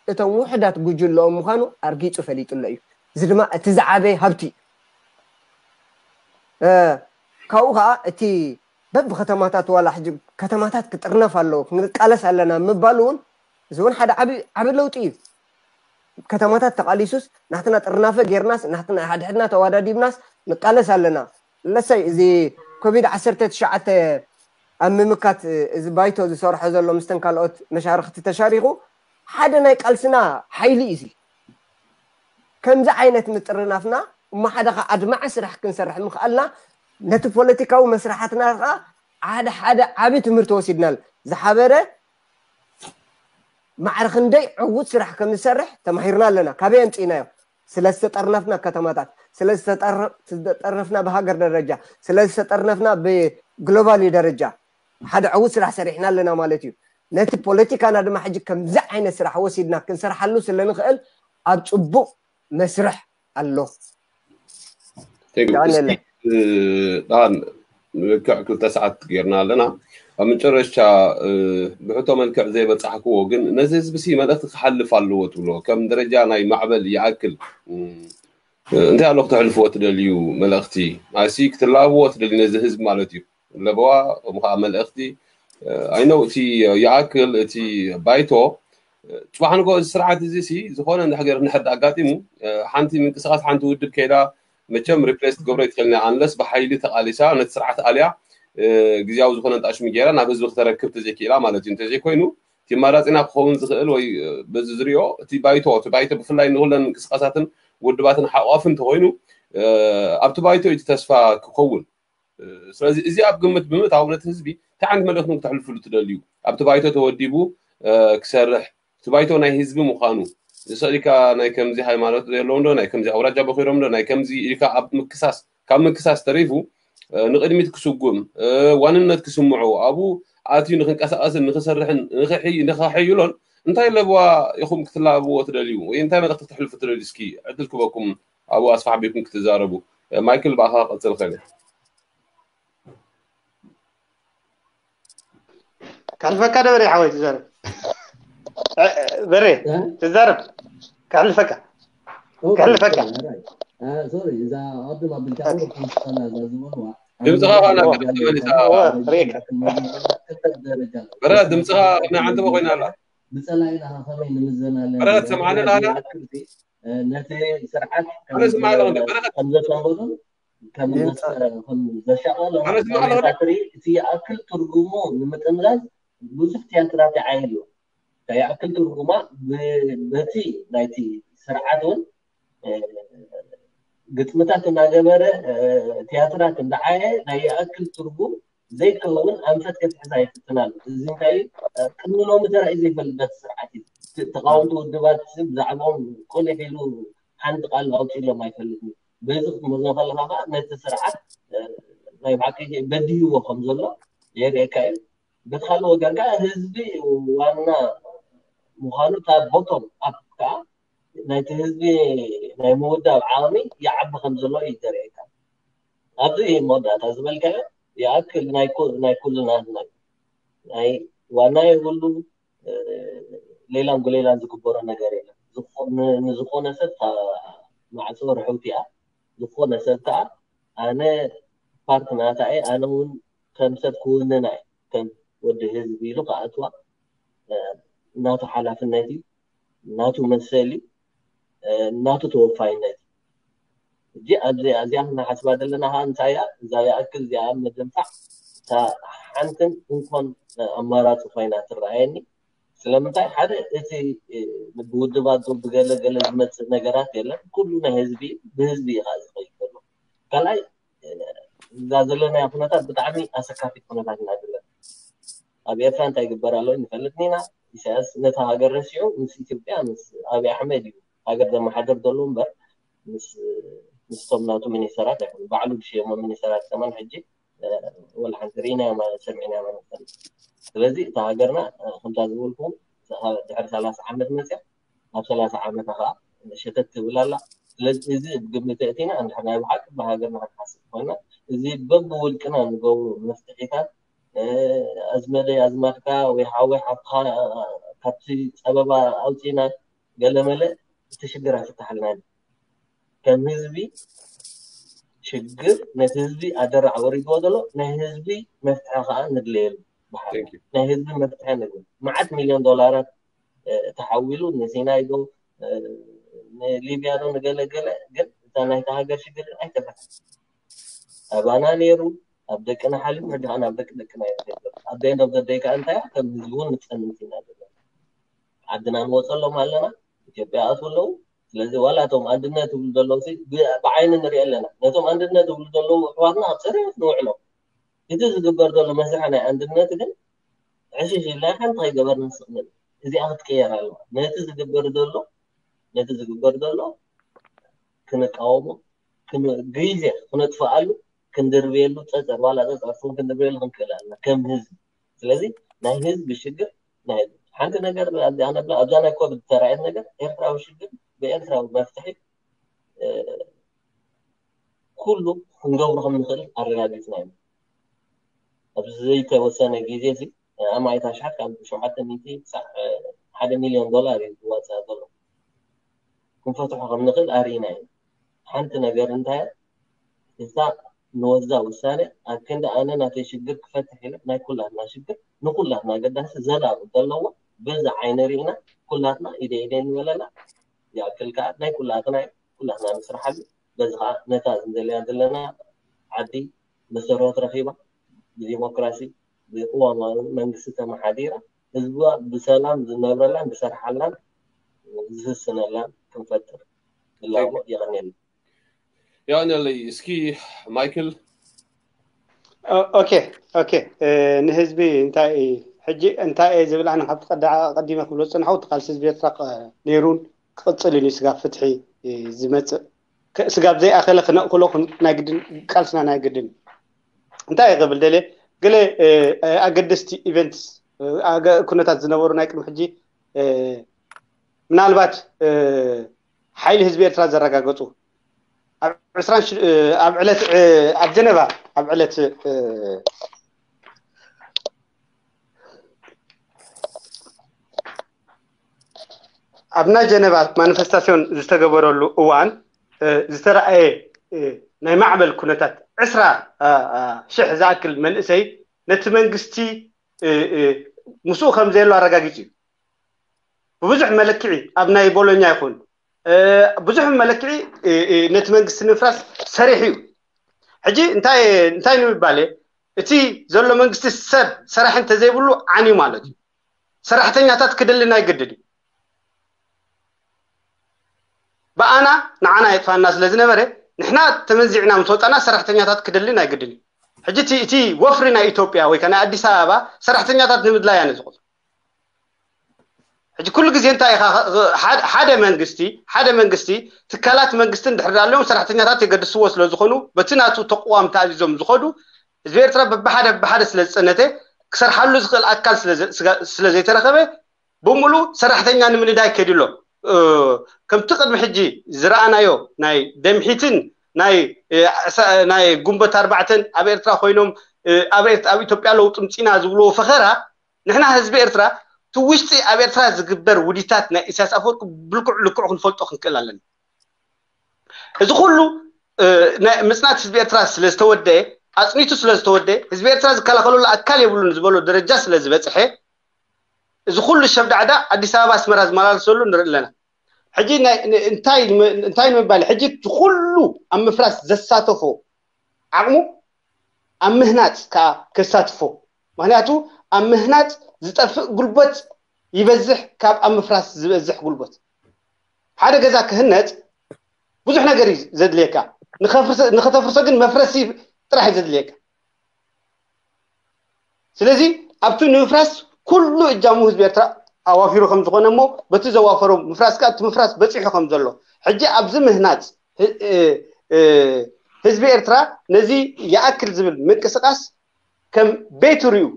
እቶም ውሕዳት ጉጅለኦም ምዃኑ ኣርጊፁ ፈሊጡ ኣሎ እዩ። እዚ ድማ እቲ ዝዓበየ ሃብቲ እዩ። ካብኡ ከዓ እቲ በብከተማታት ዋላ ሕጂ ከተማታት ክጥርነፍ ኣለዎ ክንቃለስ ኣለና ምባል እውን እዚ እውን ሓደ ዓቢ ለውጢ እዩ። ከተማታት ተቃሊሱስ ናትና ጥርናፈ ጌርናስ ናትና ሓድሕድና ተዋዳዲብናስ ንቃለስ ኣለና። ለሰይ እዚ ኮቪድ ዓሰርተ ትሽዓተ ኣብ ምምካት እዚ ባይቶ ዝሰርሖ ዘሎ ምስተን ካልኦት መሻርክቲ ተሻሪኩ ሓደ ናይ ቃልስና ሓይሊ እዩ። ከምዚ ዓይነት ምጥርናፍና እሞ ሓደ ከዓ ኣድማዒ ስራሕ ክንሰርሕ ምኽኣልና ነቲ ፖለቲካዊ መስራሓትና ከዓ ሓደ ሓደ ዓቢ ትምህርቲ ወሲድናል። ዝሓበረ ማዕረ ክንደይ ዕዉት ስራሕ ከም ዝሰርሕ ተማሂርና ኣለና። ካበይ ኣምፂእናዮ? ስለ ዝተጠርነፍና ከተማታት፣ ስለ ዝተጠረፍና ብሃገር ደረጃ፣ ስለ ዝተጠርነፍና ብግሎባሊ ደረጃ ሓደ ዕዉት ስራሕ ሰሪሕና ኣለና ማለት እዩ። ነቲ ፖለቲካና ድማ ሕጂ ከምዚ ዓይነት ስራሕ ወሲድና ክንሰርሓሉ ስለ ንኽእል ኣብ ፅቡቅ መስርሕ ኣሎ። ዳን ልክዕ ክልተ ሰዓት ጌርና ኣለና። ኣብ መጨረሻ ብሕቶ መልክዕ ዘይበፃሕክዎ ግን ነዚ ህዝቢ ሲ መልእክቲ ክሓልፍ ኣለዎ ትብሎ ከም ደረጃ ናይ ማዕበል ይኣክል እንታይ ኣሎ ክተሕልፍዎ ትደልዩ መልእክቲ ኣሲ ክትላብዎ ትደልዩ ነዚ ህዝቢ ማለት እዩ። ለበዋ ከምኡ ከዓ መልእክቲ ኣይነው እቲ ይኣክል እቲ ባይቶ ፅባሕ ንጎ እዚ ስርዓት እዚ ሲ ዝኾነ እንድሕር እንድሕር ኣጋጢሙ ሓንቲ ምንቅስቃስ ሓንቲ ውድብ ከይዳ መቸም ሪፕሌስ ትገብሮ ይትኽእል ና ኣንለስ ብሓይሊ ተቃሊሳ ነቲ ስርዓት ኣልያ ግዜያዊ ዝኾነ ጣሽሚ ገይራ ናብ ህዝቢ ክተረክብ ተዘይክኢላ ማለት እዩ። እንተዘይኮይኑ እቲ ማራፂና ክኸውን ዝኽእል ወይ በዚ ዝሪኦ እቲ ባይቶ እቲ ባይቶ ብፍላይ ንኩለን ምንቅስቃሳትን ውድባትን ሓቋፊ እንተኮይኑ ኣብቲ ባይቶ እቲ ተስፋ ክኸውን ስለዚ እዚ ኣብ ግምት ብምእታው ነቲ ህዝቢ እንታይ ዓይነት መልእክቲ ክተሕልፍሉ ትደልዩ? ኣብቲ ባይቶ ተወዲቡ ክሰርሕ እቲ ባይቶ ናይ ህዝቢ ምዃኑ ዝስእልካ ናይ ከምዚ ሃይማኖት ዘለዎም ዶ ናይ ከምዚ ኣውራጃ በኪሮም ዶ ናይ ከምዚ ኢልካ ኣብ ምክሳስ ካብ ምክሳስ ተሪፉ ንቅድሚት ክስጉም ዋንነት ክስምዖ ኣብኡ ኣትዩ ንክንቀሳቀስን ንክሰርሕን ንክሕይሎን እንታይ ለብዋ ኢኹም ክትላብዎ ትደልዩ ወይ እንታይ መልእክቲ ክተሕልፉ ትደልዩ? እስኪ ዕድል ክበኩም ኣብኡ ኣስፋሕ ቢልኩም ክትዛረቡ። ማይክል ብኣኻ ቀጽል ኸል ካልፈካ ደበሬ ሓወይ ትዛረብ በሬ ትዛረብ ከሕልፈካ። ኦኬ፣ ከሕልፈካ። ሶሪ፣ ራይት። አ፣ ሶሪ፣ እዛ ቅድም ኣቢልካ እውን ከምስላ እዛ ዝበልዋ ድምፅኻ ኣብ ኸኣ ናብ መጋቢት ተመሊሳ። ካብ እወ፣ ደረጃ ርኤካ። ክልተ ደረጃ ኣሎ። በረኸት፣ ንስኻ ድምፅኻ ስርዓት ናይ ዓንተቦ ኮይና ኣላ። ብፀላኢና ኸመይ ንምዘናለን በረኸት፣ ዝብል ትሰምዓኒ ናይ ኣለኻ? ዝኣክል ሲ፣ እ፣ ነቲ ስርዓት ከም ኣነ ስምዓለኹ እንደ ዘ-፣ በረኸት። ከም ዘሰንበዱን ከም ድምፂ ዘስ-፣ ከም ዘሻቐሎም ኣነ ስምዓለኹ እንደ ዳይሬክተሪ እቲ ይኣክል ትርጉሙ ንምጥምዛዝ ብዙሕ ቲያትራት ይዓየሉ። እንታይ ይኣክል ትርጉማ ብ-፣ በቲ ናይቲ ስርዓት እውን፣ እ፣ ግጥምታት እናገበረ፣ እ፣ ቲያትራት እንዳዓየ ናይ ይኣክል ትርጉም ዘይከውን ኣንፈት ከትሕዝ ኣይፍትን ኣሎ። እዚ እንታይ እዩ? እ፣ ቅድሚ ሎሚ ተራእዩ ዘይፈልጥ ስርዓት እዩ። ት-፣ ተቃወምቲ ውድባት ብዛዕባኦም ቁሊሕ ኢሉ ሓንቲ ቃል ኣውፂሎም ኣይፈልጥን እዩ። በዚ ክትመዝኖ ከለኻ ከዓ ነቲ ስርዓት፣ እ፣ ናይ ብሓቂ በድይዎ ከም ዘሎ የርእየካ እዩ። በቲ ካልእ ወገን ከዓ ህዝቢ ዋና ምዃኑ እታ ቦቶም ኣፕ ከዓ ናይቲ ህዝቢ ናይ ምውዳብ ዓቕሚ ይዓቢ ከም ዘሎ እዩ ዘርእየካ። ኣብዚ እዩ መወዳእታ ዝበልካዮ ይኣክል ናይ ኩ-፣ ናይ ኩልና ናይ፣ ናይ ዋና የብሉ፣ እ፣ ሌላን ጉሌላን ዝግበሮ ነገር የለን። ዝኾ-፣ ን-፣ ንዝኾነ ሰብ እታ ማዕጾ ርሕውቲ እያ። ዝኾነ ሰብ ከዓ ኣነ ፓርት ናታ እየ፣ ኣነ እውን ከም ሰብ ክውንና እየ፣ ከም ወዲ ህዝቢ ኢሉ ክኣትዋ፣ እ፣ ናቱ ሓላፍነት እዩ፣ ናቱ መሰል እዩ፣ እ፣ ናቱ ተወፋይነት እዩ። ሕጂ ኣብዚ፣ እዚኣ ክንሓስባ ዘለና ከዓ እንታይ እያ? እዛ ይኣክል እዚኣ ምድንፋዕ እታ ሓንትን እንኮን ኣማራፂ ኮይና ትረኣየኒ። ስለምንታይ? ሓደ እቲ፣ እ፣ ብውድባት ዶ ብገለ ገለ ዝመፅእ ነገራት የለን። ኩሉ ናይ ህዝቢ እዩ፣ ብህዝቢ እዩ ከዓ ዝኸይድ ዘሎ። ካልኣይ፣ እ፣ እዛ ዘለናዮ ኩነታት ብጣዕሚ ኣሰካፊት ኩነታት ኢና ዘለና። ኣብ ኤርትራ እንታይ ይግበር ኣሎ ንፈልጥ ኢና። ኢሳያስ ነታ ሃገር ረሲዑ ምስ ኢትዮጵያ፣ ምስ ኣብይ ኣሕመድ እዩ ሃገር ዘመሓድር ዘሎ እምበር ምስ፣ ምስቶም ናቱ ሚኒስተራት ኣይኮኑን። ባዕሉ ዝሸየሞ ሚኒስተራት ከማን ሕጂ፣ እ፣ ወላ ሓንቲ ርኢናዮም ሰሚዕናዮም ኣይንፈልጥ። ስለዚ እታ ሃገርና፣ እ፣ ከምታ ዝበልኩም ድሕሪ ሰላሳ ዓመት መፅያ፣ ናብ ሰላሳ ዓመታ ከዓ ሸተት ትብል ኣላ። ስለዚ እዚ ግምት እቲና እንድሕር ናይ ብሓቂ ብሃገርና ክንሓስብ ኮይና፣ እዚ በብውልቅና ንገብሮ መፍትሒታት፣ እ፣ ኣዝመደይ ኣዝማድካ ወይ ሓወይ ሓፍትኻ ካብቲ ፀበባ ኣውፂና ገለመለ እቲ ሽግር ኣይፍታሓልናን። ከም ህዝቢ ሽግር ነቲ ህዝቢ ኣደራዕ ወሪድዎ ዘሎ ናይ ህዝቢ መፍትሒ ከዓ ንድለየሉ ብሓደ። Thank you። ናይ ህዝቢ መፍትሒ ንብል። መዓት ሚልዮን ዶላራት፣ እ፣ ተሓዊሉ ንሲናይ ዶ፣ እ፣ ንሊብያ ዶ ንገለገለ፣ ግን እታ ናይታ ሃገር ሽግር ግን ኣይተፈትሐን። ኣባና ነይሩ፣ ኣብ ደቅና ሓሊፉ፣ ሕጂ ከዓ ናብ ደቂ ደቅና እዩ ዝኸይድ ዘሎ። ኣብ the end of the day ከዓ እንታይ እያ? ከም ህዝቢ እውን ንፀንት ኢና ዘለና። ዓድና ንወፀሎም ኣለና፣ ኢትዮጵያ ኣትዉ ኣለዉ። ስለዚ ዋላ እቶም ኣንድነት ዝብሉ ዘለዉ ሲ ብ-፣ ብዓይኒ ንሪኦ ኣለና። ነቶም ኣንድነት ዝብሉ ዘለዉ ኣሕዋትና ኣብ ፅሬት ንውዕሎም። እቲ ዝግበር ዘሎ መስርሕ ናይ ኣንድነት ግን ዕሽሽ ኢልና ሓንቲ ከይገበርና ስቕ ንብል። እዚኣ ክትቅየር ኣለዋ። ነቲ ዝግበር ዘሎ፣ ነቲ ዝግበር ዘሎ ክንቃወሞ፣ ክን-፣ ግዜ ክነጥፍኣሉ፣ ክንድርብየሉ፣ ፀፀር፣ ዋላ ፀፀር ስም ክንድርብየሉ ክንክእል ኣለና ከም ህዝቢ። ስለዚ ናይ ህዝቢ ሽግር ናይ ህዝቢ። ሓንቲ ነገር ኣብዚኣ ነብላ፣ ኣብዛ ናይ ኮቪድ ዝተራእየት ነገር ኤርትራዊ ሽግር ብኤርትራዊ መፍትሒ፣ እ፣ ኩሉ ክንገብሮ ከም ንኽእል ኣረጋጊጽና ኢና። ኣብዚ ዘይተወሰነ ግዜ እዚ፣ እ፣ ኣማኢት ኣሽሓት ካብ ሸውዓተ ሚእቲ ክሳዕ፣ እ፣ ሓደ ሚልዮን ዶላር እዩ ዝዋጽእ ዘሎ። ክንፈትሖ ከም ንኽእል ኣርኢና ኢና። ሓንቲ ነገር እንታይ እያ? እታ ንወስዳ ውሳነ ኣብ ክንዲ ኣነ ናተይ ሽግር ክፈትሕ ኢለ ናይ ኩላትና ሽግር ንኩላትና ኣገዳሲ ዘላቒ ዘለዎ በዚ ዓይኒ ርኢና ኩላትና ኢደ ኢደ ንበለላ ይኣክል ከዓ ናይ ኩላትና እዩ። ኩላትና ንስርሓሉ። በዚ ከዓ ነታ ንደልያ ዘለና ዓዲ መሰረት ረኺባ ብዲሞክራሲ ብቅዋማዊ መንግስቲ ተመሓዲራ ህዝባ ብሰላም ዝነብረላን ዝሰርሓላን ዝህስነላን ክንፈጥር ፍላጎት የቐንየልና። የቐንየለይ። እስኪ ማይክል። ኦ-፣ ኦኬ፣ ኦኬ። እ፣ ንህዝቢ እንታይ፣ ሕጂ እንታይ እየ ዝብል ኣነ ካብቲ ቀዳ-፣ ቀዲመ ክብሎ ዝጸናሕኩ እቲ ቃልሲ ህዝቢ ኤርትራ ቅ-፣ ነይሩን ክቕጽልን እዩ። ስጋብ ፍትሒ፣ እ፣ ዝመጽእ ከ-፣ ስጋብ ዘይኣኸለ ክነእክሎ ክን-፣ ናይ ግድን ቃልስና ናይ ግድን እዩ። እንታይ እየ ክብል ደልየ? ገለ፣ እ፣ እ፣ ኣገደስቲ ኢቨንትስ፣ እ፣ ኣገ-፣ ኩነታት ዝነበሩ ናይ ቅድሚ ሕጂ፣ እ፣ ምናልባት፣ እ፣ ሓይሊ ህዝቢ ኤርትራ ዘረጋገጹ ኣብ ዕስራን ሽ-፣ እ፣ ኣብ ዕለት፣ እ፣ ኣብ ጀነቫ ኣብ ዕለት፣ እ፣ ኣብ ናይ ጀነቫ ማኒፌስታሲዮን ዝተገበረሉ እዋን ዝተረኣየ ናይ ማዕበል ኩነታት ዕስራ ሽሕ ዝኣክል መንእሰይ ነቲ መንግስቲ ምስኡ ከም ዘየሎ ኣረጋጊጹ እዩ። ብብዙሕ መለክዒ ኣብ ናይ ቦሎኛ ይኹን ብዙሕ መለክዒ ነቲ መንግስቲ ንምፍራስ ሰሪሑ እዩ። ሕጂ እንታይ እንታይ ንምባል እቲ ዘሎ መንግስቲ ሰብ ሰራሕ እንተዘይብሉ ዓንዩ ማለት እዩ። ሰራሕተኛታት ክደሊ ናይ ግድን እዩ። ብኣና ንዓና የጥፋና ስለ ዝነበረ ንሕና ተመንዚዕና ምስ ወፃና ሰራሕተኛታት ክደሊ ናይ ግድን እዩ። ሕጂ እቲ ወፍሪ ናይ ኢትዮጵያ ወይ ናይ ኣዲስ ኣበባ ሰራሕተኛታት ንምድላይ ኣነ ዝቆፅሮ። ሕጂ ኩሉ ግዜ እንታይ ኢኻ ሓደ መንግስቲ ሓደ መንግስቲ ትካላት መንግስቲ እንድሕር ኣለዎም ሰራሕተኛታት የገድስዎ ስለ ዝኾኑ በቲ ናቱ ተቋም ተኣዚዞም ዝኸዱ ህዝቢ ኤርትራ በብሓደ በብሓደ ስለ ዝፀነተ ክሰርሓሉ ዝኽእል ኣካል ስለ ዘይተረኸበ ብምሉ ሰራሕተኛ ንምንዳይ ከዲሎ ከምቲ ቅድሚ ሕጂ ዝረኣናዮ ናይ ደምሒትን ናይ ናይ ጉንበት ኣርባዕተን ኣብ ኤርትራ ኮይኖም ኣብ ኢትዮጵያ ለውጢ ምፂና ዝብልዎ ፈኸራ ንሕና ህዝቢ ኤርትራ እቲ ውሽጢ ኣብ ኤርትራ ዝግበር ውዲታት ናይ ኢሳያስ ኣፈወርቂ ብልክዕ ልክዑ ክንፈልጦ ክንክእል ኣለና። እዚ ኩሉ ምፅናት ህዝቢ ኤርትራ ስለዝተወደአ ኣፅኒቱ ስለዝተወደአ ህዝቢ ኤርትራ ዝከላኸለሉ ኣካል የብሉን ዝበሎ ደረጃ ስለዝበፅሐ እዚ ኩሉ ሸብዳዕዳ ኣዲስ ኣበባ ኣስመራ ዝመላለሰሉ ንርኢ ኣለና። ሕጂ እንታይ ንምባል ሕጂ እቲ ኩሉ ኣብ ምፍራስ ዘሳተፎ ዓቕሙ ኣብ ምህናፅ ከዓ ከሳትፎ ምክንያቱ ኣብ ምህናፅ ዝጠፍእ ጉልበት ይበዝሕ ካብ ኣብ ምፍራስ ዝበዝሕ ጉልበት። ሓደ ገዛ ክህነፅ ብዙሕ ነገር እዩ ዘድልየካ። ንኸተፍርሶ ግን መፍረሲ ጥራሕ እዩ ዘድልየካ። ስለዚ ኣብቲ ንምፍራስ ኩሉ እጃሙ ህዝቢ ኤርትራ ኣዋፊሩ ከም ዝኾነ እሞ በቲ ዘዋፈሮ ምፍራስ ከዓ እቲ ምፍራስ በፂሑ ከም ዘሎ ሕጂ ኣብዚ ምህናፅ ህዝቢ ኤርትራ ነዚ ይኣክል ዝብል ምንቅስቃስ ከም ቤቱ ሪኡ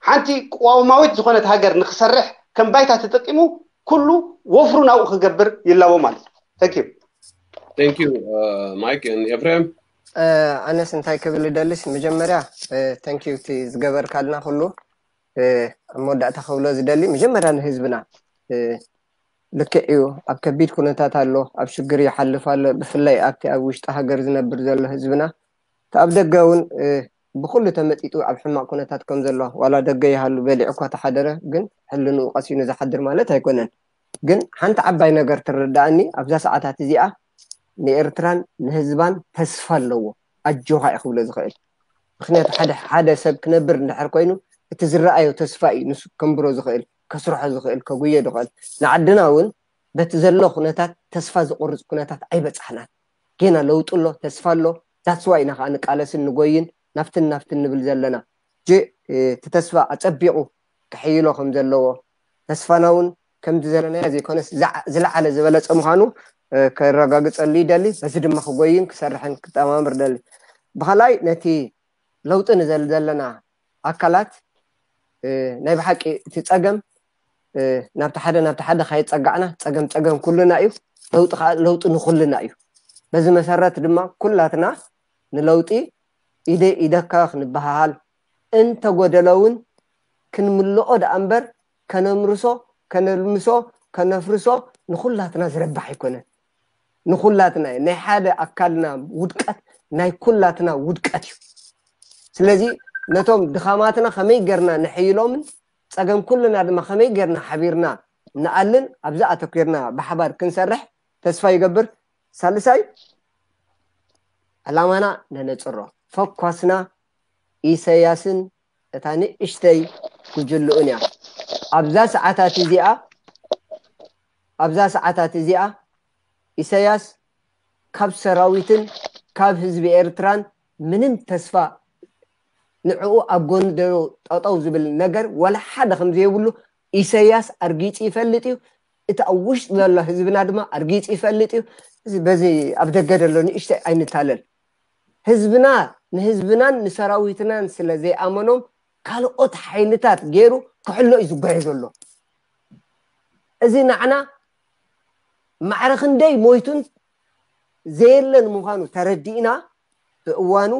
ሓንቲ ቅዋማዊት ዝኾነት ሃገር ንክሰርሕ ከም ባይታ ተጠቂሙ ኩሉ ወፍሩ ናብኡ ክገብር ይላቦ ማለት እዩ። Thank you። Thank you Mike and ኤፍሬም። ኣነስ እንታይ ክብል ደልስ መጀመርያ thank you እቲ ዝገበርካልና ኩሉ ኣብ መወዳእታ ክብሎ ዝደሊ መጀመርያ ንህዝብና ልክዕ እዩ ኣብ ከቢድ ኩነታት ኣሎ ኣብ ሽግር ይሓልፍ ኣሎ ብፍላይ ኣብቲ ኣብ ውሽጢ ሃገር ዝነብር ዘሎ ህዝብና እቲ ኣብ ደገ እውን ብኩሉ ተመጢጡ ኣብ ሕማቅ ኩነታት ከም ዘሎ ዋላ ደገ ይሃሉ በሊዑ እኳ ተሓደረ ግን ሕልንኡ ቀሲኑ ዝሓድር ማለት ኣይኮነን ግን ሓንቲ ዓባይ ነገር ትርዳእኒ ኣብዛ ሰዓታት እዚኣ ንኤርትራን ንህዝባን ተስፋ ኣለዎ ኣጆኻ እዩ ክብሎ ዝኽእል ምክንያቱ ሓደ ሓደ ሰብ ክነብር እንድሕር ኮይኑ እቲ ዝረኣዮ ተስፋ እዩ ንሱ ከንብሮ ዝኽእል ከስርሖ ዝኽእል ከጉዮ ዝኽእል ንዓድና እውን በቲ ዘሎ ኩነታት ተስፋ ዝቆርፅ ኩነታት ኣይበፃሕናን ጌና ለውጢ ኣሎ ተስፋ ኣሎ that's why ኢና ከዓ ንቃለስን ንጎይን ናብትን ናብትን ንብል ዘለና ጂ እቲ ተስፋ ኣፀቢቑ ክሕይሎ ከም ዘለዎ ተስፋና እውን ከምዚ ዘለናዮ ዘይኮነስ ዝለዓለ ዝበለፀ ምዃኑ ከረጋግፀሉ ይደሊ በዚ ድማ ክጎይን ክሰርሕን ክጠማምር ደሊ ብኻላይ ነቲ ለውጢ ንዘል ዘለና ኣካላት ናይ ብሓቂ እቲ ፀገም ናብቲ ሓደ ናብቲ ሓደ ካየፀጋዕና ፀገም ፀገም ኩልና እዩ ለውጢ ከዓ ለውጢ ንኩልና እዩ በዚ መሰረት ድማ ኩላትና ንለውጢ ኢደ ኢደካ ክንበሃሃል እንተጎደሎ እውን ክንምልኦ ደኣ እምበር ከነምርሶ ከነልምሶ ከነፍርሶ ንኩላትና ዝረባሕ ኣይኮነን ንኩላትና እዩ ናይ ሓደ ኣካልና ውድቀት ናይ ኩላትና ውድቀት እዩ ስለዚ ነቶም ድኻማትና ከመይ ገርና ንሕይሎምን ፀገም ኩልና ድማ ከመይ ገርና ሓቢርና ንኣልን ኣብዚ ኣተኪርና ብሓባር ክንሰርሕ ተስፋ ይገብር ሳልሳይ ዕላማና ነነፅሮ ፈኳስና ኢሰያስን እታ ንእሽተይ ጉጅልኡን እያ ኣብዛ ሰዓታት እዚኣ ኣብዛ ሰዓታት እዚኣ ኢሰያስ ካብ ሰራዊትን ካብ ህዝቢ ኤርትራን ምንም ተስፋ ንዕኡ ኣብ ጎኒ ደው ጠጠው ዝብል ነገር ወላ ሓደ ከም ዘይብሉ ኢሰያስ ኣርጊፂ ይፈልጥ እዩ እቲ ኣብ ውሽጢ ዘሎ ህዝብና ድማ ኣርጊፂ ይፈልጥ እዩ በዚ ኣብ ደገ ዘሎ ንእሽተይ ኣይንታለል ህዝብና ንህዝብናን ንሰራዊትናን ስለ ዘይኣመኖም ካልኦት ሓይልታት ገይሩ ክሕሎ እዩ ዝጓየ ዘሎ እዚ ንዓና ማዕረ ክንደይ ሞይቱን ዘየለን ምዃኑ ተረዲእና ብእዋኑ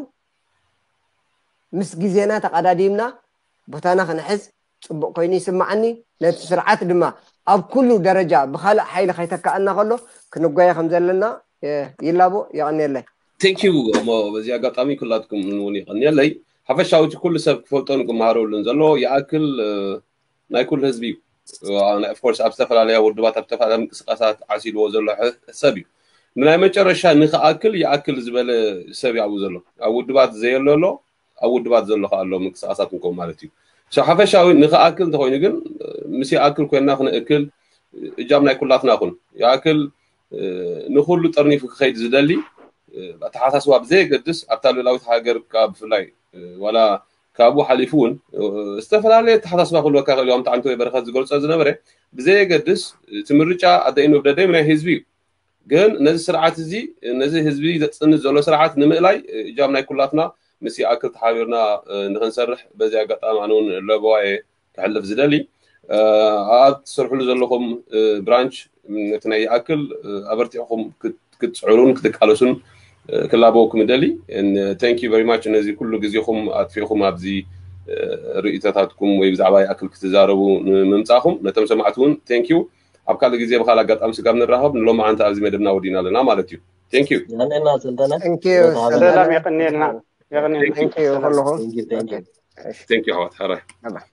ምስ ግዜና ተቐዳዲምና ቦታና ክንሕዝ ፅቡቕ ኮይኑ ይስማዓኒ ነቲ ስርዓት ድማ ኣብ ኩሉ ደረጃ ብካልእ ሓይሊ ከይተካኣና ከሎ ክንጓየ ከም ዘለና ይላቦ። የቐንየለይ። Thank you እሞ በዚ ኣጋጣሚ ኩላትኩም እውን የቐንየለይ። ሓፈሻዊ እቲ ኩሉ ሰብ ክፈልጦን ክመሃረሉን ዘለዎ ይኣክል ናይ ኩሉ ህዝቢ እዩ። Of course ኣብ ዝተፈላለያ ውድባት ኣብ ዝተፈላለያ ምንቅስቃሳት ዓሲልዎ ዘሎ ሰብ እዩ። ንናይ መጨረሻ ንክኣክል ይኣክል ዝበለ ሰብ እዩ ኣብኡ ዘሎ። ኣብ ውድባት ዘየሎ ኣሎ፣ ኣብ ውድባት ዘሎ ከ ኣሎ ምንቅስቃሳት እንከው ማለት እዩ። ሓፈሻዊ ንክኣክል እንተኮይኑ ግን ምስ ይኣክል ኮይንና ክነእክል እጃም ናይ ኩላትና ኩን ይኣክል ንኩሉ ጠርኒፉ ክኸይድ ዝደሊ ኣተሓሳስባ ብዘየገድስ ኣብታ ልላዊት ሃገር ብፍላይ ዋላ ካብኡ ሓሊፉ እውን ዝተፈላለየ ኣተሓሳስባ ክህልወካ ክእል። ምጣዕሚ ወይ በረከት ዝገልፆ ዝነበረ ብዘየገድስ እቲ ምርጫ ኣደይኑ ብደደይ ናይ ህዝቢ እዩ። ግን ነዚ ስርዓት እዚ ነዚ ህዝቢ ዘፅንት ዘሎ ስርዓት ንምእላይ እጃም ናይ ኩላትና ምስ ይኣክል ተሓቢርና ንክንሰርሕ በዚ ኣጋጣሚ ኣነ እውን ለበዋየ ክሕልፍ ዝደሊ ኣብ ትሰርሕሉ ዘለኹም ብራንች ነቲ ናይ ይኣክል ኣበርቲዕኹም ክትፅዕሩን ክትቃለሱን ክላበወኩም ደሊ። Thank you very much ነዚ ኩሉ ግዜኹም ኣጥፊእኹም ኣብዚ ርእይቶታትኩም ወይ ብዛዕባ ይኣክል ክትዛረቡ ንምምፃእኹም ነቶም ሰማዕቲ እውን thank you። ኣብ ካልእ ግዜ ብካል ኣጋጣሚ ስጋብ ንራኸብ ንሎማዓንቲ ኣብዚ መደብና ወዲና ኣለና ማለት እዩ። Thank you። የቀንየልና ሰልጠነ። ሰላም የቀንየልና። Thank you ኩልኹም። Thank you ኣሕዋት ሓራይ።